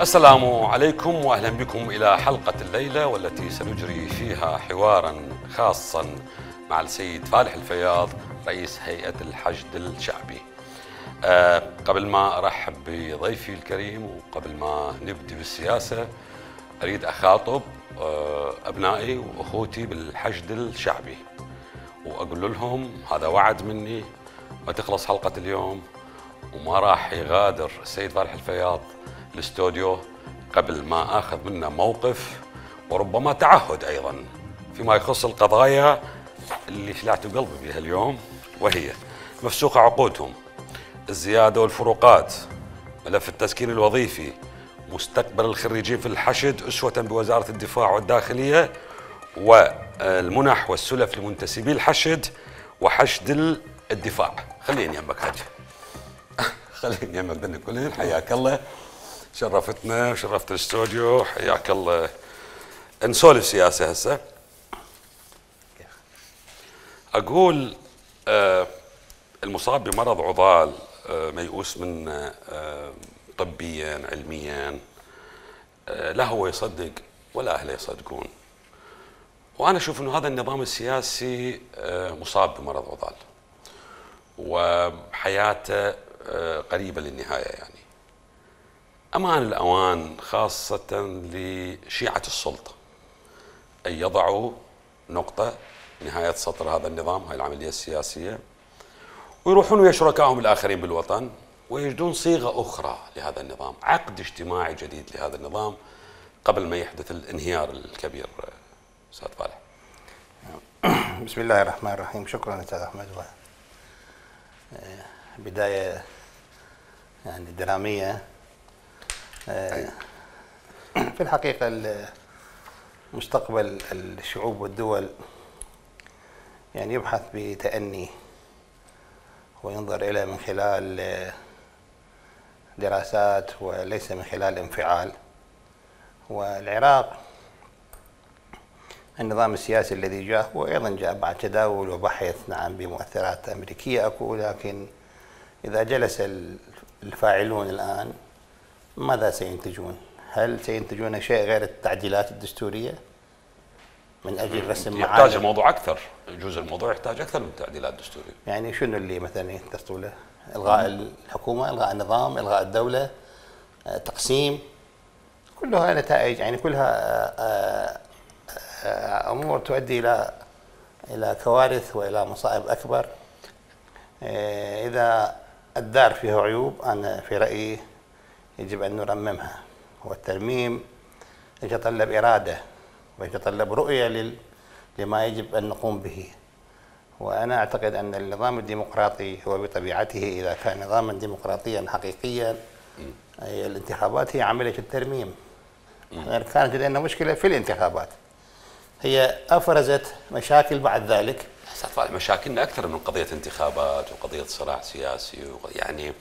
السلام عليكم واهلا بكم الى حلقه الليله والتي سنجري فيها حوارا خاصا مع السيد فالح الفياض رئيس هيئه الحشد الشعبي. قبل ما ارحب بضيفي الكريم وقبل ما نبدي بالسياسه اريد اخاطب ابنائي واخوتي بالحشد الشعبي واقول لهم هذا وعد مني ما تخلص حلقه اليوم وما راح يغادر السيد فالح الفياض الاستوديو قبل ما اخذ منه موقف وربما تعهد ايضا فيما يخص القضايا اللي فلعت قلبي بها اليوم، وهي مفسوخه عقودهم، الزياده والفروقات، ملف التسكين الوظيفي، مستقبل الخريجين في الحشد اسوه بوزاره الدفاع والداخليه، والمنح والسلف لمنتسبي الحشد وحشد الدفاع. خليني يمك هاتي خليني يمك دني كلين. حياك الله، شرفتنا وشرفت الاستوديو، حياك الله. نسولف سياسه هسه. اقول المصاب بمرض عضال ميؤوس منه طبيا علميا، لا هو يصدق ولا اهله يصدقون، وانا اشوف انه هذا النظام السياسي مصاب بمرض عضال وحياته قريبه للنهايه. يعني امان الاوان خاصه لشيعه السلطه ان يضعوا نقطه نهايه سطر هذا النظام، هاي العمليه السياسيه، ويروحون ويا شركائهم الاخرين بالوطن ويجدون صيغه اخرى لهذا النظام، عقد اجتماعي جديد لهذا النظام قبل ما يحدث الانهيار الكبير. استاذ فالح. بسم الله الرحمن الرحيم. شكرا استاذ احمد. بدايه يعني دراميه. في الحقيقه مستقبل الشعوب والدول يعني يبحث بتأني وينظر إلى من خلال دراسات وليس من خلال انفعال. والعراق النظام السياسي الذي جاء هو أيضا جاء بعد تداول وبحث نعم بمؤثرات أمريكية أكو، لكن إذا جلس الفاعلون الآن ماذا سينتجون؟ هل سينتجون شيء غير التعديلات الدستورية من اجل رسم معالم؟ يحتاج الموضوع اكثر، يجوز الموضوع يحتاج اكثر من تعديلات دستوريه. يعني شنو اللي مثلا يختصوا له؟ الغاء الحكومه، الغاء النظام، الغاء الدوله، تقسيم، كلها نتائج، يعني كلها امور تؤدي الى كوارث والى مصائب اكبر. اذا الدار فيها عيوب انا في رايي يجب ان نرممها، والترميم يتطلب اراده ويتطلب رؤية لما يجب أن نقوم به. وأنا أعتقد أن النظام الديمقراطي هو بطبيعته إذا كان نظاما ديمقراطيا حقيقيا الانتخابات هي عملية الترميم. كانت لدينا مشكلة في الانتخابات، هي أفرزت مشاكل بعد ذلك. مشاكلنا أكثر من قضية انتخابات وقضية صراع سياسي يعني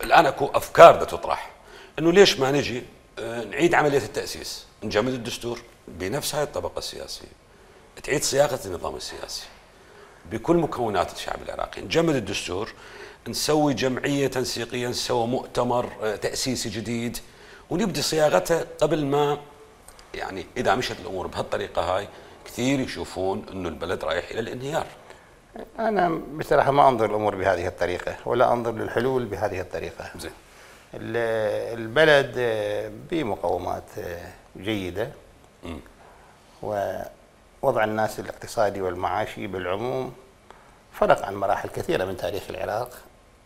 الآن أكو أفكار تطرح أنه ليش ما نجي نعيد عملية التأسيس، نجمد الدستور بنفس هاي الطبقة السياسية، تعيد صياغة النظام السياسي بكل مكونات الشعب العراقي، نجمد الدستور، نسوي جمعية تنسيقية، نسوي مؤتمر تأسيسي جديد ونبدي صياغته قبل ما يعني إذا مشت الأمور بهالطريقة هاي كثير يشوفون أنه البلد رايح إلى الانهيار. أنا بصراحة ما أنظر الأمور بهذه الطريقة ولا أنظر للحلول بهذه الطريقة. زين. البلد بمقومات جيدة، ووضع الناس الاقتصادي والمعاشي بالعموم فرق عن مراحل كثيرة من تاريخ العراق.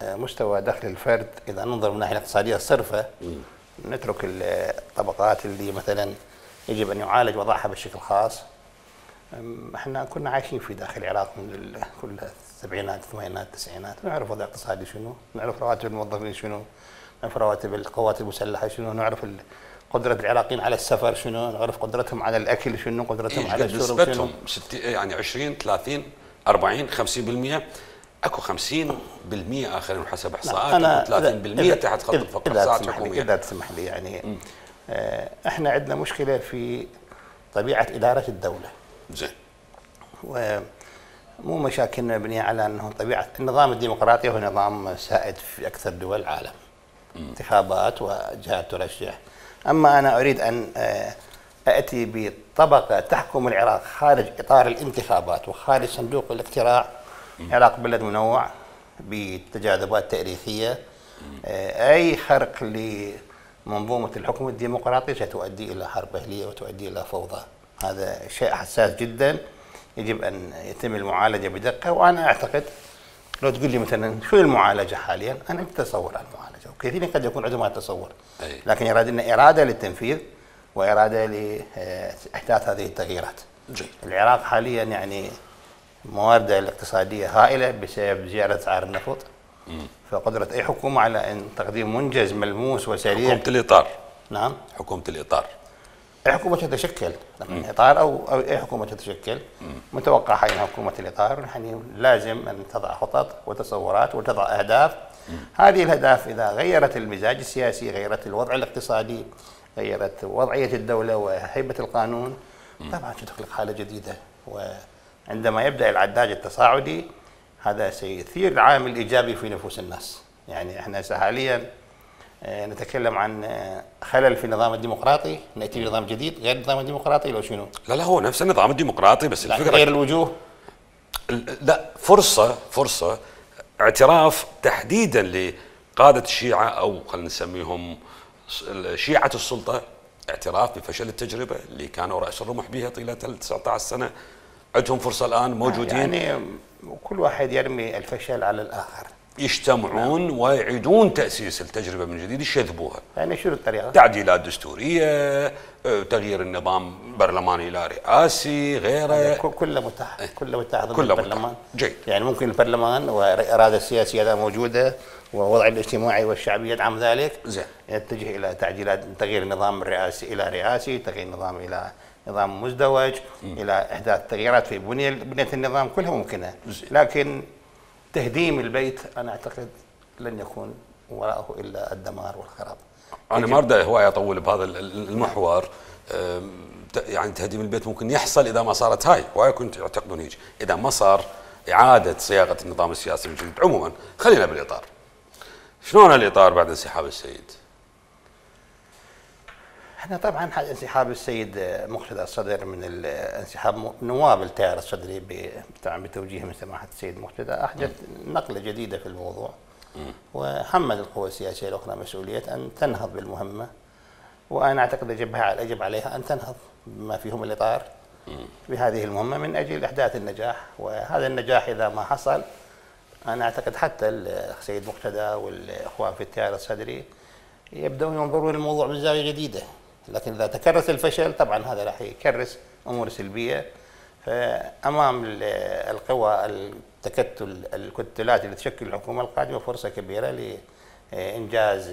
مستوى دخل الفرد إذا ننظر من الناحية الاقتصادية الصرفة، نترك الطبقات اللي مثلا يجب أن يعالج وضعها بشكل خاص. احنا كنا عايشين في داخل العراق من كل السبعينات الثمانينات التسعينات، نعرف وضع اقتصادي شنو، نعرف رواتب الموظفين شنو، نعرف رواتب القوات المسلحة شنو، نعرف قدرة العراقيين على السفر شنو، نعرف قدرتهم على الأكل شنو، قدرتهم على الشرب شنو. يعني 20 30 40 50%، اكو 50% اخرين حسب احصاءات، 30% تحت خط الفقر. إذا تسمح لي يعني احنا عندنا مشكلة في طبيعة إدارة الدولة. زين. ومو مشاكلنا مبنية على أنه طبيعة النظام الديمقراطي هو نظام سائد في أكثر دول العالم. انتخابات وجهات ترشح. أما أنا أريد أن أتي بطبقة تحكم العراق خارج إطار الانتخابات وخارج صندوق الاقتراع. العراق بلد منوع بتجاذبات تاريخية. أي خرق لمنظومة الحكم الديمقراطي ستؤدي إلى حرب أهلية وتؤدي إلى فوضى. هذا شيء حساس جدا، يجب أن يتم المعالجة بدقة. وأنا أعتقد لو تقول لي مثلا شو المعالجة حاليا، أنا أتصور عن المعالجة، وكثيرين قد يكون عندهم هذا التصور، لكن يرادنا إرادة للتنفيذ وإرادة لإحداث هذه التغييرات. العراق حاليا يعني موارده الاقتصادية هائلة بسبب زيادة أسعار النفط. فقدرة أي حكومة على أن تقديم منجز ملموس وسريع. حكومة الإطار. نعم. حكومة الإطار. أي حكومة تتشكل، إطار أو أي حكومة تتشكل، متوقع حين حكومة الإطار يعني لازم أن تضع خطط وتصورات وتضع أهداف. هذه الأهداف إذا غيرت المزاج السياسي، غيرت الوضع الاقتصادي، غيرت وضعية الدولة وهيبة القانون، طبعا ستخلق حالة جديدة. وعندما يبدأ العداد التصاعدي هذا سيثير عامل إيجابي في نفوس الناس. يعني احنا حاليا نتكلم عن خلل في النظام الديمقراطي، نأتي بنظام جديد غير النظام الديمقراطي لو شنو؟ لا هو نفس النظام الديمقراطي بس الفكرة غير الوجوه. لا، فرصة اعتراف تحديدا لقادة الشيعة أو خلينا نسميهم شيعة السلطة، اعتراف بفشل التجربة اللي كانوا رأس الرمح بها طيلة 19 سنة. عندهم فرصة الآن موجودين، يعني كل واحد يرمي الفشل على الآخر، يجتمعون ويعيدون تأسيس التجربة من جديد، يشذبوها. يعني شنو الطريقة؟ تعديلات دستورية، تغيير النظام برلماني إلى رئاسي، غيره. كله متاح، كله متاح ضمن كله البرلمان. جيد. يعني ممكن البرلمان والإرادة السياسية إذا موجودة ووضع الاجتماعي والشعبي يدعم ذلك، زين، يتجه إلى تعديلات، تغيير النظام الرئاسي إلى رئاسي، تغيير النظام إلى نظام مزدوج، إلى إحداث تغييرات في بنية النظام، كلها ممكنة. لكن تهديم البيت أنا أعتقد لن يكون وراءه إلا الدمار والخراب. أنا ما أريد هواية أطول بهذا المحور. يعني تهديم البيت ممكن يحصل إذا ما صارت هاي، وهاي كنت يعتقدون هيك، إذا ما صار إعادة صياغة النظام السياسي من جديد. عموما خلينا بالإطار. شلون الإطار بعد انسحاب السيد؟ احنا طبعا انسحاب السيد مقتدى الصدر من انسحاب نواب التيار الصدري بتوجيه من سماحه السيد مقتدى احدث نقله جديده في الموضوع، وحمل القوى السياسيه الاخرى مسؤوليه ان تنهض بالمهمه. وانا اعتقد يجب عليها ان تنهض بما فيهم الاطار بهذه المهمه من اجل احداث النجاح. وهذا النجاح اذا ما حصل انا اعتقد حتى السيد مقتدى والاخوان في التيار الصدري يبدأون ينظرون الموضوع من زاوية جديدة. لكن إذا تكرس الفشل طبعا هذا راح يكرس أمور سلبية. فأمام القوى التكتل الكتلات اللي تشكل الحكومة القادمة فرصة كبيرة لإنجاز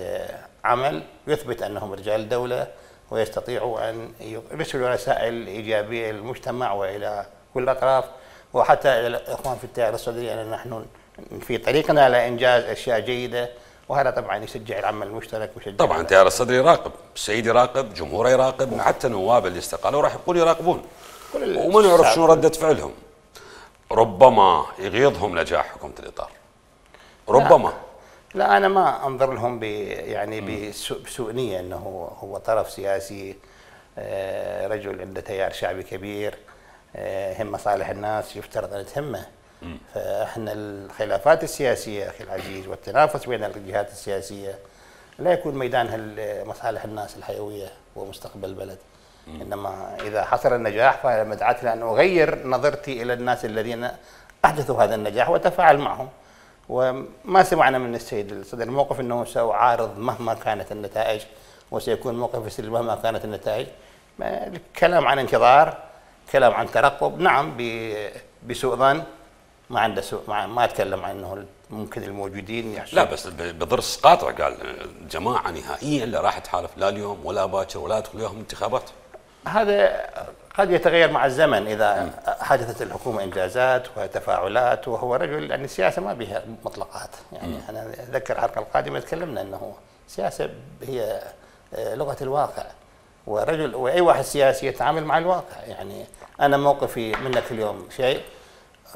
عمل يثبت أنهم رجال دولة ويستطيعوا أن يرسلوا رسائل إيجابية للمجتمع وإلى كل الأطراف وحتى إلى الإخوان في التيار الصدري أن نحن في طريقنا لإنجاز أشياء جيدة. وهذا طبعا يشجع العمل المشترك طبعا التيار الصدري يراقب، السيد يراقب، جمهوره يراقب، حتى نواب اللي استقالوا راح يقول يراقبون وما نعرف شنو ردة فعلهم. ربما يغيظهم نجاح حكومة الإطار، ربما. لا أنا ما أنظر لهم يعني بسوء نية أنه هو طرف سياسي، رجل عنده تيار شعبي كبير، هم مصالح الناس يفترض أن تهمه. فاحنا الخلافات السياسيه اخي العزيز والتنافس بين الجهات السياسيه لا يكون ميدانها مصالح الناس الحيويه ومستقبل البلد. انما اذا حصل النجاح فمدعاة لان اغير نظرتي الى الناس الذين احدثوا هذا النجاح وتفاعل معهم. وما سمعنا من السيد الصدر الموقف انه سيعارض مهما كانت النتائج وسيكون موقف سلبي مهما كانت النتائج. كلام عن انتظار، كلام عن ترقب، نعم بسوء ظن، ما عنده سوء، ما اتكلم عن انه ممكن الموجودين يحصل. لا بس بضرس قاطع قال الجماعه نهائيا لا راح تحالف لا اليوم ولا باكر ولا يدخل وياهم انتخابات. هذا قد يتغير مع الزمن اذا حدثت الحكومه انجازات وتفاعلات، وهو رجل يعني السياسه ما بها مطلقات. يعني انا اتذكر الحلقه القادمه تكلمنا انه السياسه هي لغه الواقع، ورجل واي واحد سياسي يتعامل مع الواقع. يعني انا موقفي منك اليوم شيء،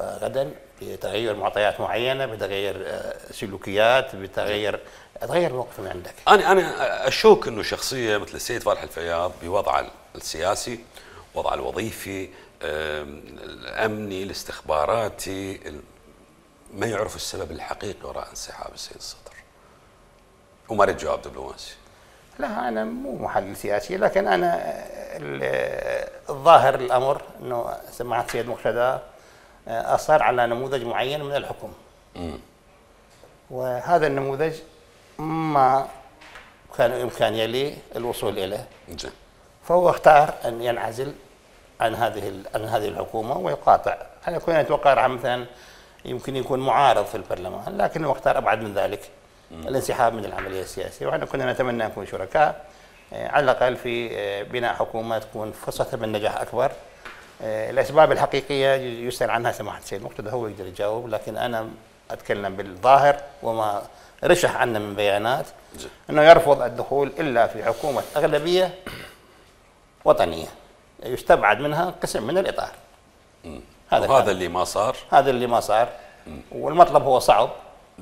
غدا بتغير معطيات معينه، بتغير سلوكيات، بتغير الموقف من عندك. انا اشك انه شخصيه مثل السيد فالح الفياض بوضعه السياسي، وضعه الوظيفي، الامني، الاستخباراتي، ما يعرف السبب الحقيقي وراء انسحاب السيد الصدر. وما اريد جواب دبلوماسي. لا انا مو محلل سياسي، لكن انا الظاهر الامر انه سماحه السيد مقتدى اصر على نموذج معين من الحكم. وهذا النموذج ما كان بامكانيه لي الوصول اليه. فهو اختار ان ينعزل عن هذه الحكومه ويقاطع. انا كنت اتوقع مثلا يمكن يكون معارض في البرلمان، لكنه اختار ابعد من ذلك، الانسحاب من العمليه السياسيه. واحنا كنا نتمنى ان نكون شركاء على الاقل في بناء حكومه تكون فرصتها بالنجاح اكبر. الاسباب الحقيقيه يسال عنها سماحه السيد مقتدى، هو يقدر يجاوب، لكن انا اتكلم بالظاهر وما رشح عنا من بيانات انه يرفض الدخول الا في حكومه اغلبيه وطنيه يستبعد منها قسم من الاطار. هذا اللي ما صار. هذا اللي ما صار. والمطلب هو صعب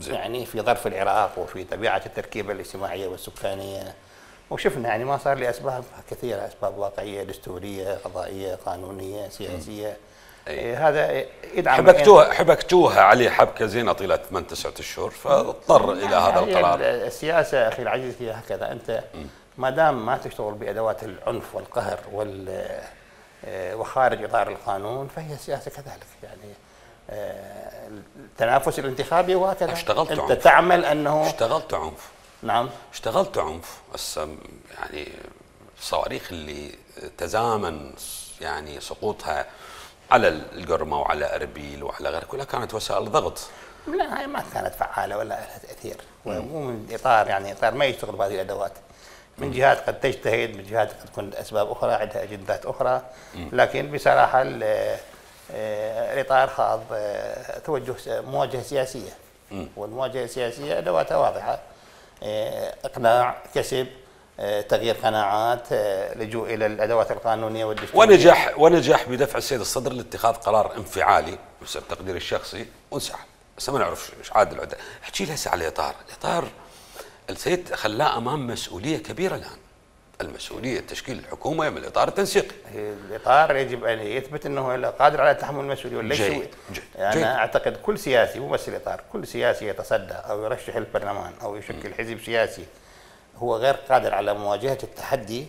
يعني في ظرف العراق وفي طبيعه التركيبه الاجتماعيه والسكانيه، وشفنا يعني ما صار لاسباب كثيره، اسباب واقعيه، دستوريه، قضائيه، قانونيه، سياسيه. هذا يدعم حبكتوها عليه حبكه زينه طيله 8 9 اشهر، فاضطر الى هذا القرار. السياسه اخي العزيز هي هكذا، انت ما دام ما تشتغل بادوات العنف والقهر وخارج اطار القانون فهي السياسه كذلك يعني. التنافس الانتخابي وهكذا. اشتغلت انت عنف. تعمل انه اشتغلت عنف. نعم اشتغلت عنف، بس يعني الصواريخ اللي تزامن يعني سقوطها على القرمه وعلى اربيل وعلى غيرها كلها كانت وسائل ضغط. لا هي ما كانت فعاله ولا لها تاثير، مو من اطار يعني اطار ما يشتغل بهذه الادوات. من جهات قد تجتهد، من جهات قد تكون اسباب اخرى، عندها اجندات اخرى، لكن بصراحه الاطار خاض مواجهه سياسيه، والمواجهه السياسيه ادواتها واضحه: اقناع، كسب، تغيير قناعات، لجوء الى الادوات القانونيه والدستوريه. ونجح بدفع السيد الصدر لاتخاذ قرار انفعالي بسبب تقديري الشخصي وانسحب. بس ما نعرف ايش عاد العده. احكي لي هسه على الاطار السيد خلاه امام مسؤوليه كبيره الان. المسؤوليه تشكيل الحكومه من الاطار التنسيقي. الاطار يجب ان يثبت انه قادر على تحمل المسؤوليه ولا جيد. انا اعتقد كل سياسي مو بس الاطار، كل سياسي يتصدى او يرشح البرلمان او يشكل حزب سياسي هو غير قادر على مواجهه التحدي،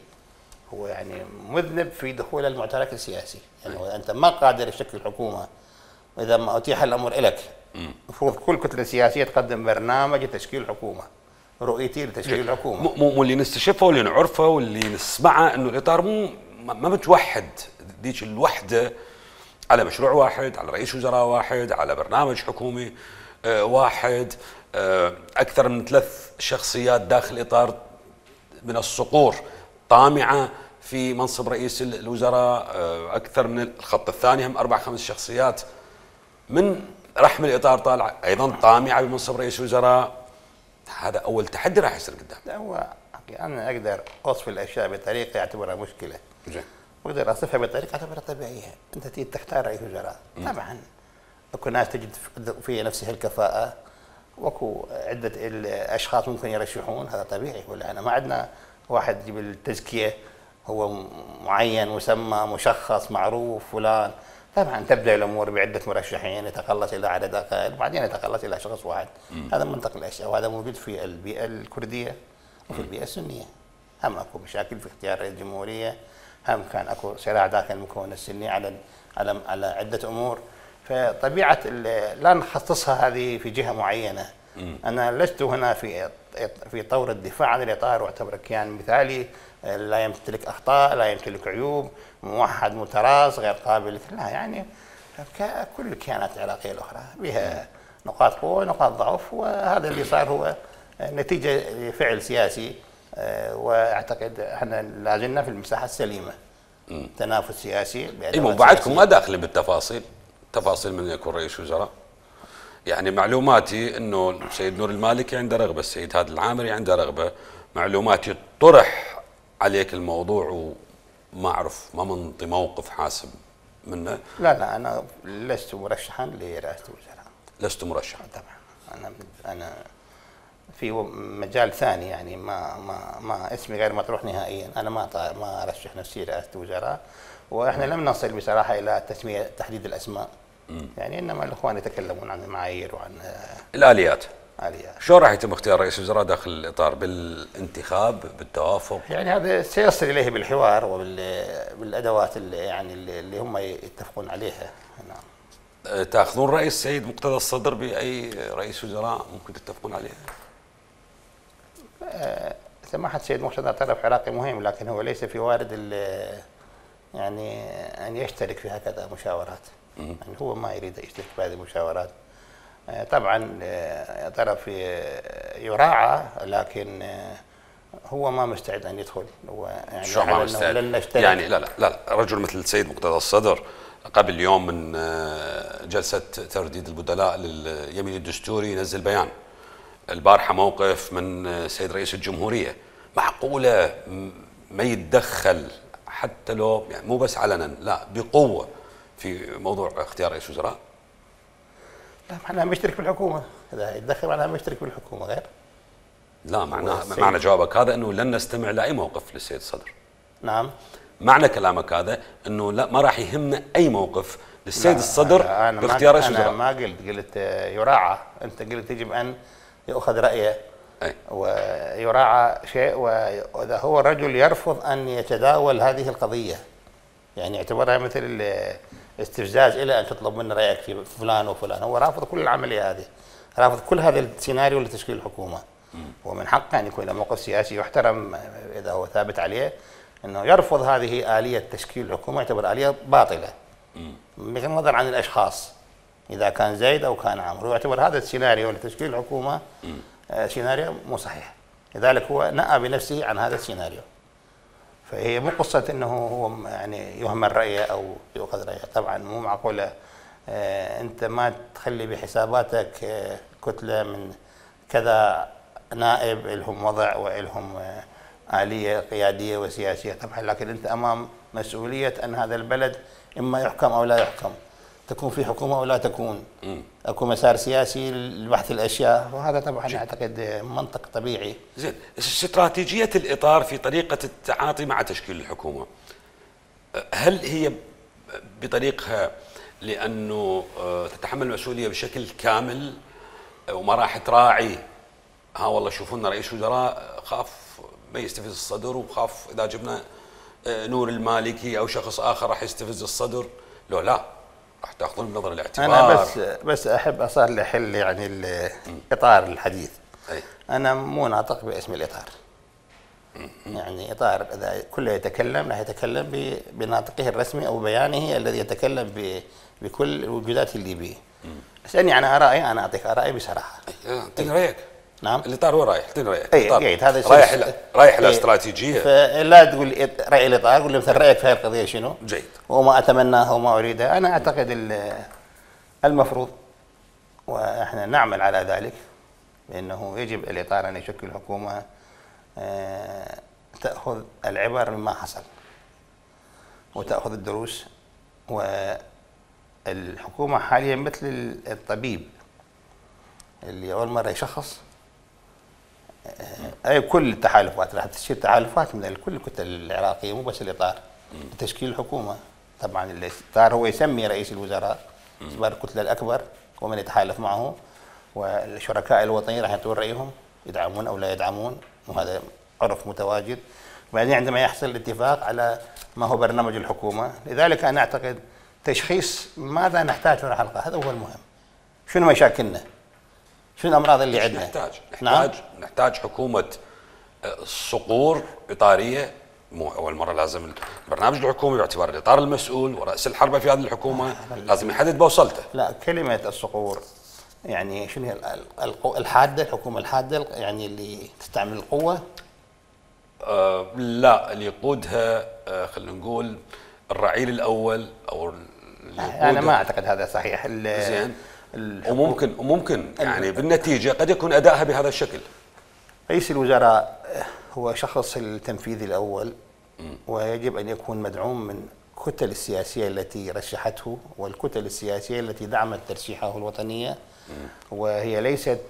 هو يعني مذنب في دخول المعترك السياسي. يعني انت ما قادر تشكل حكومه، واذا ما اتيح الامر لك المفروض كل كتله سياسيه تقدم برنامج لتشكيل حكومه، رؤيتي لتشكيل الحكومه. مو اللي نستشفه واللي نعرفه واللي نسمعه انه الاطار ما متوحد ذيك الوحده على مشروع واحد، على رئيس وزراء واحد، على برنامج حكومي واحد، اكثر من 3 شخصيات داخل اطار من الصقور طامعه في منصب رئيس الوزراء، اكثر من الخط الثاني هم 4 5 شخصيات من رحم الاطار طالعه ايضا طامعه بمنصب رئيس وزراء. هذا اول تحدي راح يصير قدام. لا هو انا اقدر اوصف الاشياء بطريقه يعتبرها مشكله. زين. واقدر اصفها بطريقه اعتبرها طبيعيه. انت تيجي تختار رئيس وزراء، طبعا اكو ناس تجد في نفسها الكفاءه، واكو عده الاشخاص ممكن يرشحون، هذا طبيعي. ولا انا ما عندنا واحد يجيب التزكيه هو معين مسمى مشخص معروف فلان. طبعا تبدا الامور بعده مرشحين يتقلص الى عدد اقل وبعدين يتقلص الى شخص واحد. هذا منطق الاشياء، وهذا موجود في البيئه الكرديه وفي البيئه السنيه. هم اكو مشاكل في اختيار رئيس الجمهوريه، هم كان اكو صراع داخل المكون السني على عده امور. فطبيعه لا نخصصها هذه في جهه معينه. انا لست هنا في طور الدفاع عن الاطار واعتبره كيان مثالي لا يمتلك اخطاء، لا يمتلك عيوب، موحد متراص غير قابل. لا يعني كل الكيانات العراقيه الاخرى بها نقاط قوه ونقاط ضعف، وهذا اللي صار هو نتيجه لفعل سياسي. واعتقد احنا لا زلنا في المساحه السليمه. تنافس سياسي. بعدكم ما داخلين بالتفاصيل، تفاصيل من يكون رئيس وزراء. يعني معلوماتي انه السيد نور المالكي عنده رغبه، السيد هادي العامري عنده رغبه. معلوماتي طرح عليك الموضوع وما اعرف، ما منطي موقف حاسم منه؟ لا انا لست مرشحا لرئاسه الوزراء. لست مرشحا طبعا. انا في مجال ثاني، يعني ما اسمي غير مطروح نهائيا. انا ما ارشح نفسي رئاسه الوزراء، واحنا لم نصل بصراحه الى تحديد الاسماء. يعني انما الاخوان يتكلمون عن المعايير وعن الاليات. آليات. شلون راح يتم اختيار رئيس الوزراء داخل الاطار؟ بالانتخاب، بالتوافق؟ يعني هذا سيصل اليه بالحوار وبالادوات اللي هم يتفقون عليها. نعم. تاخذون راي السيد مقتدى الصدر باي رئيس وزراء ممكن تتفقون عليه؟ سماحه السيد مقتدى طرف عراقي مهم، لكن هو ليس في وارد يعني ان يشترك في هكذا مشاورات. يعني هو ما يريد يشترك في هذه المشاورات. طبعا طرف يراعى، لكن هو ما مستعد ان يدخل. هو يعني شو ما مستعد؟ لن نشترك. يعني لا رجل مثل السيد مقتدى الصدر قبل يوم من جلسه ترديد البدلاء لليمين الدستوري ينزل بيان. البارحه موقف من السيد رئيس الجمهوريه. معقوله ما يتدخل حتى لو يعني مو بس علنا، لا بقوه في موضوع اختيار رئيس وزراء؟ لا، معناها مشترك بالحكومه. اذا يتدخل معناها مشترك بالحكومه غير. لا، معنى جوابك هذا انه لن نستمع لاي موقف للسيد الصدر. نعم. معنى كلامك هذا انه لا، ما راح يهمنا اي موقف للسيد الصدر باختيار رئيس وزراء. انا ما قلت يراعى. انت قلت يجب ان يؤخذ رايه. أي. ويراعى شيء، واذا هو الرجل يرفض ان يتداول هذه القضيه، يعني يعتبرها مثل استفزاز الى ان تطلب منه رايك في فلان وفلان. هو رافض كل العمليه هذه، رافض كل هذا السيناريو لتشكيل الحكومه. ومن حقه ان يكون له موقف سياسي يحترم اذا هو ثابت عليه، انه يرفض هذه اليه تشكيل الحكومه، يعتبر اليه باطله بغض النظر عن الاشخاص، اذا كان زيد او كان عمرو. يعتبر هذا السيناريو لتشكيل الحكومه سيناريو مو صحيح، لذلك هو نأى بنفسه عن هذا السيناريو. فهي مو قصه انه هو يعني يهمل رايه او يؤخذ رايه. طبعا مو معقوله انت ما تخلي بحساباتك كتله من كذا نائب لهم وضع ولهم آلية قيادية وسياسية. طبعا لكن أنت أمام مسؤولية أن هذا البلد إما يحكم أو لا يحكم، تكون في حكومة أو لا تكون، أكو مسار سياسي لبحث الأشياء، وهذا طبعا أعتقد منطق طبيعي. زين، استراتيجية الإطار في طريقة التعاطي مع تشكيل الحكومة، هل هي بطريقها لأنه تتحمل المسؤولية بشكل كامل وما راح تراعي والله شوفوا لنا رئيس وزراء خاف ما يستفز الصدر، وخاف اذا جبنا نور المالكي او شخص اخر راح يستفز الصدر؟ لو لا، راح تاخذون بنظر الاعتبار. انا بس احب اصار حل يعني الاطار الحديث. أي. انا مو ناطق باسم الاطار. يعني اطار اذا كله يتكلم راح يتكلم بناطقه الرسمي او بيانه الذي يتكلم بكل الوجودات اللي به. اسالني عن ارائي، انا اعطيك ارائي بصراحه. اعطيني رايك. نعم. الاطار هو رايح، اعطيني رايك. جيد، هذا رايح الاستراتيجيه. فلا تقول راي الاطار، قول لي مثلا رايك في هذه القضيه شنو؟ جيد. وما اتمناه وما اريده. انا اعتقد المفروض، واحنا نعمل على ذلك، بانه يجب الاطار ان يشكل حكومه تاخذ العبر مما حصل وتاخذ الدروس. والحكومه حاليا مثل الطبيب اللي اول مره يشخص اي كل التحالفات راح تصير تحالفات من كل الكتل العراقيه، مو بس الاطار لتشكيل الحكومه. طبعا الاطار هو يسمي رئيس الوزراء باعتبار الكتله الاكبر ومن يتحالف معه، والشركاء الوطنيين راح يعطون رايهم يدعمون او لا يدعمون، وهذا عرف متواجد. وبعدين عندما يحصل الاتفاق على ما هو برنامج الحكومه، لذلك انا اعتقد تشخيص ماذا نحتاج من الحلقه هذا هو المهم. شنو مشاكلنا؟ شنو الامراض اللي عندنا؟ نحتاج حكومه صقور اطاريه. مو اول مره لازم البرنامج الحكومي باعتبار الاطار المسؤول ورأس الحربه في هذه الحكومه لازم يحدد بوصلته. لا، كلمه الصقور يعني شنو هي؟ الحاده، الحكومه الحاده يعني اللي تستعمل القوه؟ لا، اللي يقودها خلينا نقول الرعيل الاول او انا ما اعتقد هذا صحيح. زين. وممكن يعني بالنتيجه قد يكون ادائها بهذا الشكل. رئيس الوزراء هو شخص التنفيذي الاول، ويجب ان يكون مدعوم من الكتل السياسية التي رشحته والكتل السياسية التي دعمت ترشيحه الوطنية، وهي ليست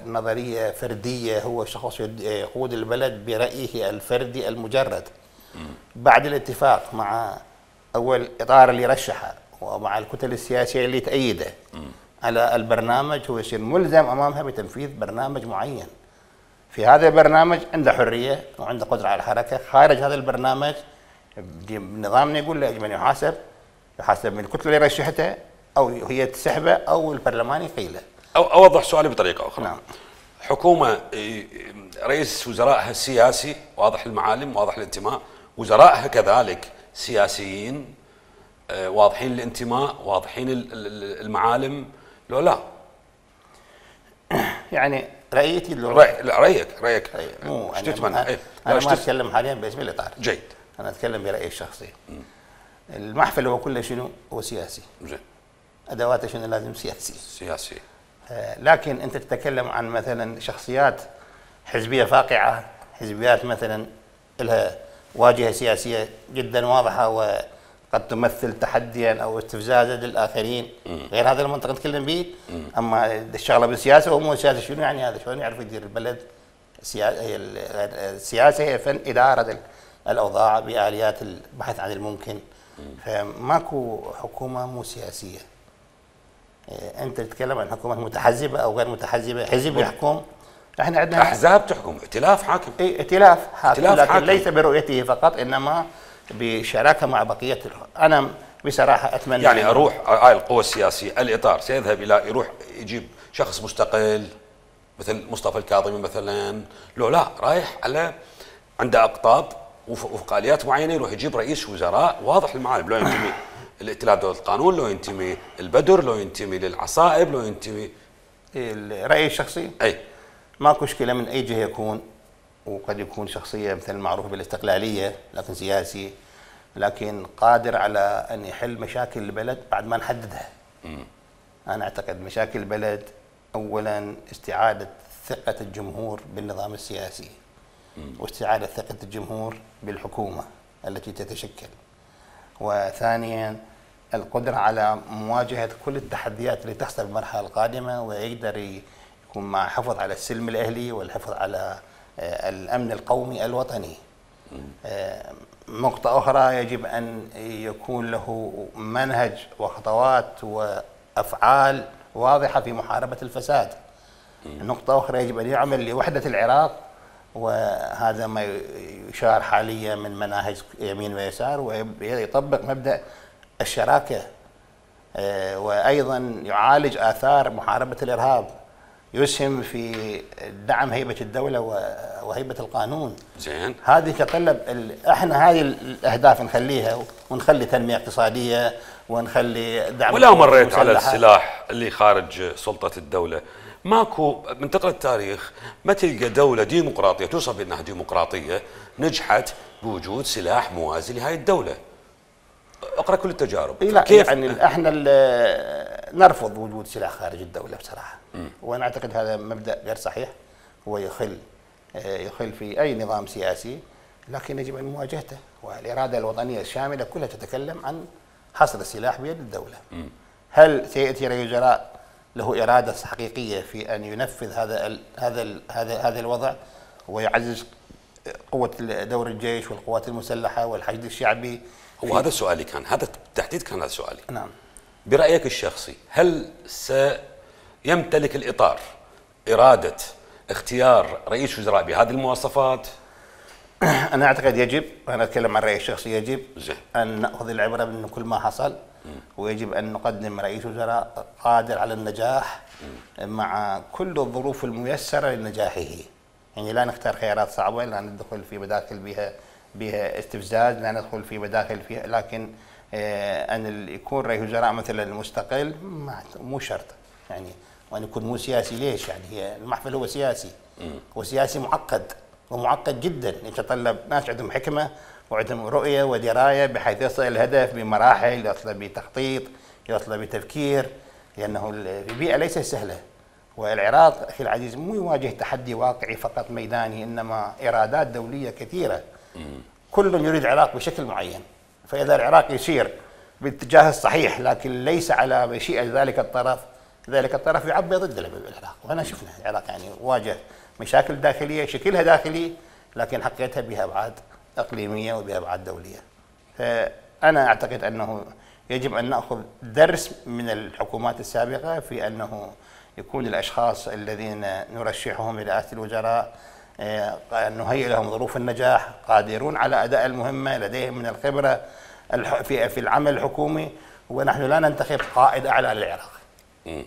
نظرية فردية هو شخص يقود البلد برأيه الفردي المجرد. بعد الاتفاق مع أول إطار اللي رشحه ومع الكتل السياسية اللي تأيده على البرنامج، هو يصير ملزم أمامها بتنفيذ برنامج معين. في هذا البرنامج عنده حرية وعنده قدرة على الحركة. خارج هذا البرنامج نظامنا يقول له يجب أن يحاسب من الكتلة اللي رشحتها، أو هي تسحبه أو البرلمان يقيله. أو أوضح سؤالي بطريقة أخرى. نعم. حكومة رئيس وزرائها سياسي واضح المعالم واضح الانتماء، وزرائها كذلك سياسيين واضحين الانتماء واضحين المعالم، لو لا؟ يعني رأيتي رأيك مو ايش تتمنى؟ أنا ما أتكلم حاليا باسم الإطار. جيد. أنا أتكلم برأيي الشخصي. المحفل هو كله شنو؟ هو سياسي. زين. أدواته شنو؟ لازم سياسي. لكن أنت تتكلم عن مثلا شخصيات حزبية فاقعة، حزبيات مثلا لها واجهة سياسية جدا واضحة وقد تمثل تحديا أو استفزازا للآخرين، غير هذا المنطق نتكلم به. أما الشغلة بالسياسة ومو سياسة، شنو يعني هذا؟ شلون يعرف يدير البلد؟ السياسة هي فن إدارة الأوضاع بآليات البحث عن الممكن. فماكو حكومة مو سياسية. أنت تتكلم عن حكومة متحزبة أو غير متحزبة، حزب يحكم، احنا عندنا أحزاب تحكم، ائتلاف حاكم. ائتلاف حاكم، لكن ليس برؤيته فقط، إنما بشراكة مع بقية. أنا بصراحة أتمنى يعني أروح هاي القوى السياسية الإطار سيذهب إلى يروح يجيب شخص مستقل مثل مصطفى الكاظمي مثلا، لو لا رايح على عنده أقطاب وفق آليات معينة، يروح يجيب رئيس وزراء واضح المعالم، لو ينتمي الائتلاف دولة القانون، لو ينتمي البدر، لو ينتمي للعصائب، لو ينتمي. الرأي الشخصي ماكو مشكلة من أي جهة يكون، وقد يكون شخصية مثل المعروف بالاستقلالية لكن سياسي، لكن قادر على أن يحل مشاكل البلد بعد ما نحددها. أنا أعتقد مشاكل البلد أولا استعادة ثقة الجمهور بالنظام السياسي، واستعادة ثقة الجمهور بالحكومة التي تتشكل، وثانيا القدرة على مواجهة كل التحديات اللي تحصل بالمرحلة القادمة، ويقدر يكون مع حفظ على السلم الأهلي والحفظ على الأمن القومي الوطني. نقطة أخرى، يجب أن يكون له منهج وخطوات وأفعال واضحة في محاربة الفساد. نقطة أخرى، يجب أن يعمل لوحدة العراق، وهذا ما يشار حاليا من مناهج يمين ويسار، ويطبق مبدأ الشراكة، وأيضا يعالج آثار محاربة الإرهاب، يسهم في دعم هيبة الدولة وهيبة القانون. زين. هذه تتطلب احنا هذه الأهداف نخليها، ونخلي تنمية اقتصادية، ونخلي دعم. ولا مريت على السلاح اللي خارج سلطة الدولة؟ ماكو من تقرأ التاريخ ما تلقى دولة ديمقراطية توصف بأنها ديمقراطية نجحت بوجود سلاح موازي لهذه الدولة. اقرأ كل التجارب. لا كيف؟ يعني احنا نرفض وجود سلاح خارج الدولة بصراحة. وانا اعتقد هذا مبدأ غير صحيح، هو يخل في اي نظام سياسي، لكن يجب ان مواجهته. والإرادة الوطنية الشاملة كلها تتكلم عن حصر السلاح بيد الدولة. هل سيأتي رئيس الوزراء له إرادة حقيقية في أن ينفذ هذا الوضع ويعزز قوة دور الجيش والقوات المسلحة والحشد الشعبي؟ هو هذا سؤالي، كان هذا بالتحديد كان هذا سؤالي. نعم. برأيك الشخصي هل سيمتلك الإطار إرادة اختيار رئيس وزراء بهذه المواصفات؟ أنا أعتقد يجب، وأنا أتكلم عن رأيي الشخصي، يجب زي. أن نأخذ العبرة من كل ما حصل، ويجب أن نقدم رئيس وزراء قادر على النجاح مع كل الظروف الميسرة لنجاحه. يعني لا نختار خيارات صعبة، لا ندخل في مداخل بها استفزاز، لا ندخل في مداخل فيها، لكن أن يكون رئيس وزراء مثلا مستقل مو شرط، يعني وأن يكون مو سياسي. ليش؟ يعني هي المحفل هو سياسي، وسياسي معقد ومعقد جدا، يتطلب ناس عندهم حكمة وعندهم رؤية ودراية بحيث يصل الهدف بمراحل، يصل بتخطيط، يصل بتفكير، لأنه البيئة ليست سهلة. والعراق أخي العزيز مو يواجه تحدي واقعي فقط ميداني، إنما إرادات دولية كثيرة. كل يريد العراق بشكل معين، فاذا العراق يسير بالاتجاه الصحيح لكن ليس على مشيئه ذلك الطرف يعبي ضد العراق. وانا شفنا العراق يعني واجه مشاكل داخليه شكلها داخلي لكن حقيقتها بها ابعاد اقليميه وبها ابعاد دوليه. فانا اعتقد انه يجب ان ناخذ درس من الحكومات السابقه في انه يكون الاشخاص الذين نرشحهم لرئاسه الوزراء نهيئ لهم ظروف النجاح، قادرون على اداء المهمه، لديهم من الخبره في العمل الحكومي. ونحن لا ننتخب قائد اعلى للعراق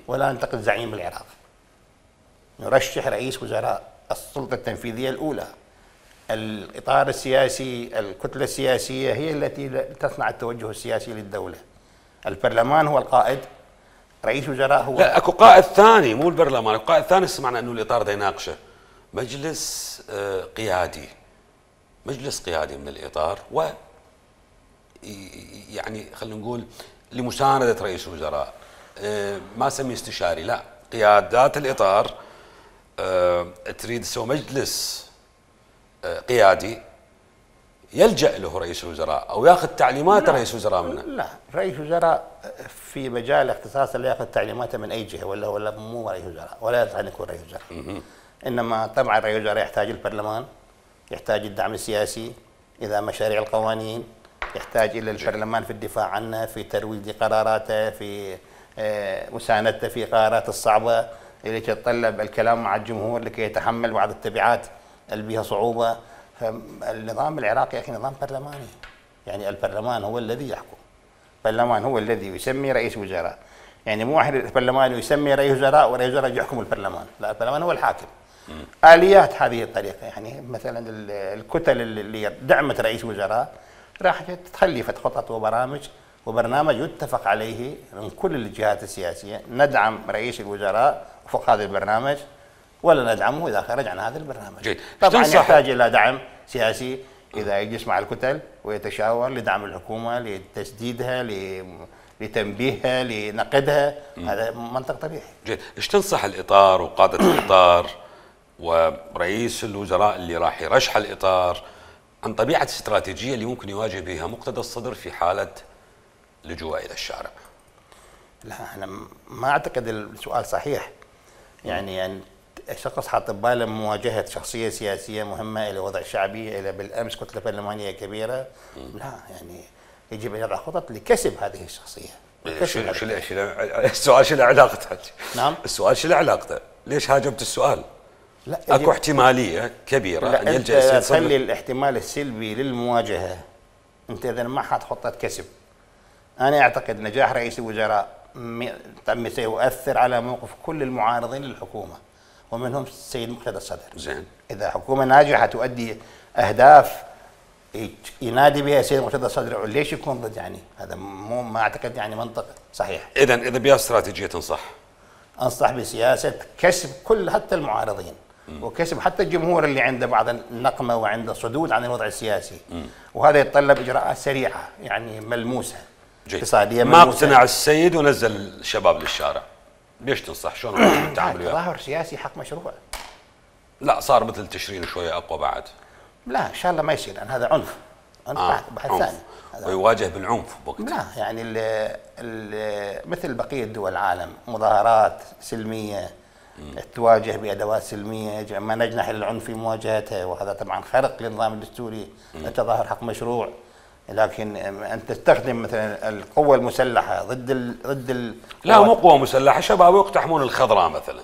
ولا ننتخب زعيم العراق، نرشح رئيس وزراء السلطه التنفيذيه الاولى. الاطار السياسي، الكتله السياسيه هي التي تصنع التوجه السياسي للدوله. البرلمان هو القائد، رئيس وزراء هو لا اكو قائد ثاني مو البرلمان، القائد الثاني سمعنا انه الاطار ده يناقشه مجلس قيادي، مجلس قيادي من الاطار، و يعني خلينا نقول لمسانده رئيس الوزراء، ما اسميه استشاري، لا قيادات الاطار تريد تسوي مجلس قيادي يلجأ له رئيس الوزراء او ياخذ تعليمات رئيس الوزراء منه. لا، رئيس الوزراء في مجال اختصاصه لا ياخذ تعليماته من اي جهه، ولا مو رئيس وزراء، ولا يصح ان يكون رئيس وزراء. انما طبعا رئيس الوزراء يحتاج البرلمان، يحتاج الدعم السياسي، اذا مشاريع القوانين يحتاج الى البرلمان في الدفاع عنه، في ترويج قراراته، في مساندته في قرارات الصعبه اللي تتطلب الكلام مع الجمهور لكي يتحمل بعض التبعات اللي بها صعوبه. فالنظام العراقي يا اخي نظام برلماني، يعني البرلمان هو الذي يحكم، البرلمان هو الذي يسمي رئيس وزراء. يعني مو واحد البرلمان يسمي رئيس وزراء ورئيس وزراء يحكم البرلمان، لا البرلمان هو الحاكم. اليات هذه الطريقه، يعني مثلا الكتل اللي دعمت رئيس وزراء راح تخلي خطط وبرنامج يتفق عليه من كل الجهات السياسيه، ندعم رئيس الوزراء وفق هذا البرنامج ولا ندعمه اذا خرج عن هذا البرنامج. جيد. طبعا يحتاج الى دعم سياسي اذا يجلس مع الكتل ويتشاور لدعم الحكومه، لتسديدها، لتنبيهها، لنقدها. هذا منطق طبيعي. جيد. ايش تنصح الاطار وقاده الاطار ورئيس الوزراء اللي راح يرشح الاطار عن طبيعه الاستراتيجيه اللي ممكن يواجه بها مقتدى الصدر في حاله لجوء الى الشارع؟ لا انا ما اعتقد السؤال صحيح. يعني شخص حاط بباله مواجهه شخصيه سياسيه مهمه الى وضع شعبي، الى بالامس كتله برلمانيه كبيره. لا، يعني يجب ان يضع خطط لكسب هذه الشخصيه. السؤال شو له علاقته؟ نعم، السؤال شو له علاقته؟ ليش هاجمت السؤال؟ لا، اكو احتماليه كبيره ان يلجا السيد صدر. تخلي الاحتمال السلبي للمواجهه، انت اذا ما حاط خطه كسب. انا اعتقد نجاح رئيس الوزراء سيؤثر على موقف كل المعارضين للحكومه ومنهم السيد مقتدى الصدر. زين. اذا حكومه ناجحه تؤدي اهداف ينادي بها السيد مقتدى الصدر، ليش يكون ضد؟ يعني هذا ما اعتقد يعني منطق صحيح. اذا بها استراتيجيه تنصح؟ انصح بسياسه كسب كل حتى المعارضين وكسب حتى الجمهور اللي عنده بعض النقمه وعنده صدود عن الوضع السياسي. وهذا يتطلب اجراءات سريعه يعني ملموسه. اقتصاديه ما اقتنع السيد ونزل الشباب للشارع، ليش تنصح؟ شلون التعامل وياه؟ تظاهر سياسي حق مشروع. لا صار مثل تشرين شويه اقوى بعد. لا ان شاء الله ما يصير، لان هذا عنف بحث ثاني. ويواجه بالعنف بوقتها. لا يعني مثل بقيه دول العالم مظاهرات سلميه تواجه بادوات سلميه، ما نجنح العنف في مواجهتها، وهذا طبعا خرق للنظام الدستوري. التظاهر حق مشروع، لكن ان تستخدم مثلا القوه المسلحه ضد لا مو قوه مسلحه، شباب يقتحمون الخضراء مثلا.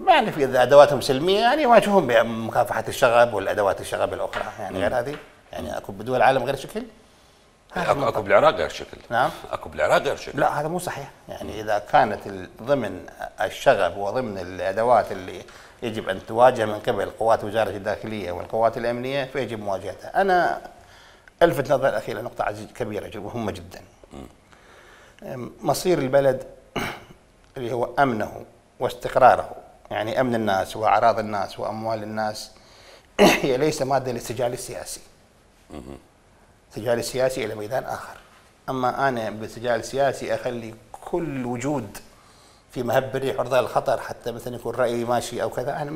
يعني في ادواتهم سلميه يعني يواجهون بمكافحه الشغب والادوات الشغب الاخرى، يعني غير هذه. يعني اكو بدول العالم غير شكل؟ اكو بالعراق غير شكل. نعم، اكو بالعراق غير شكل. لا هذا مو صحيح. يعني اذا كانت ضمن الشغب وضمن الادوات اللي يجب ان تواجه من قبل قوات وزاره الداخليه والقوات الامنيه فيجب مواجهتها. انا الفت نظر اخي لنقطه كبيره مهمه جدا. مصير البلد اللي هو امنه واستقراره، يعني امن الناس واعراض الناس واموال الناس، هي ليس ماده للسجال السياسي. السجال السياسي الى ميدان اخر. اما انا بالسجال السياسي اخلي كل وجود في مهب الريح عرضه للخطر، حتى مثلا يكون رايي ماشي او كذا. انا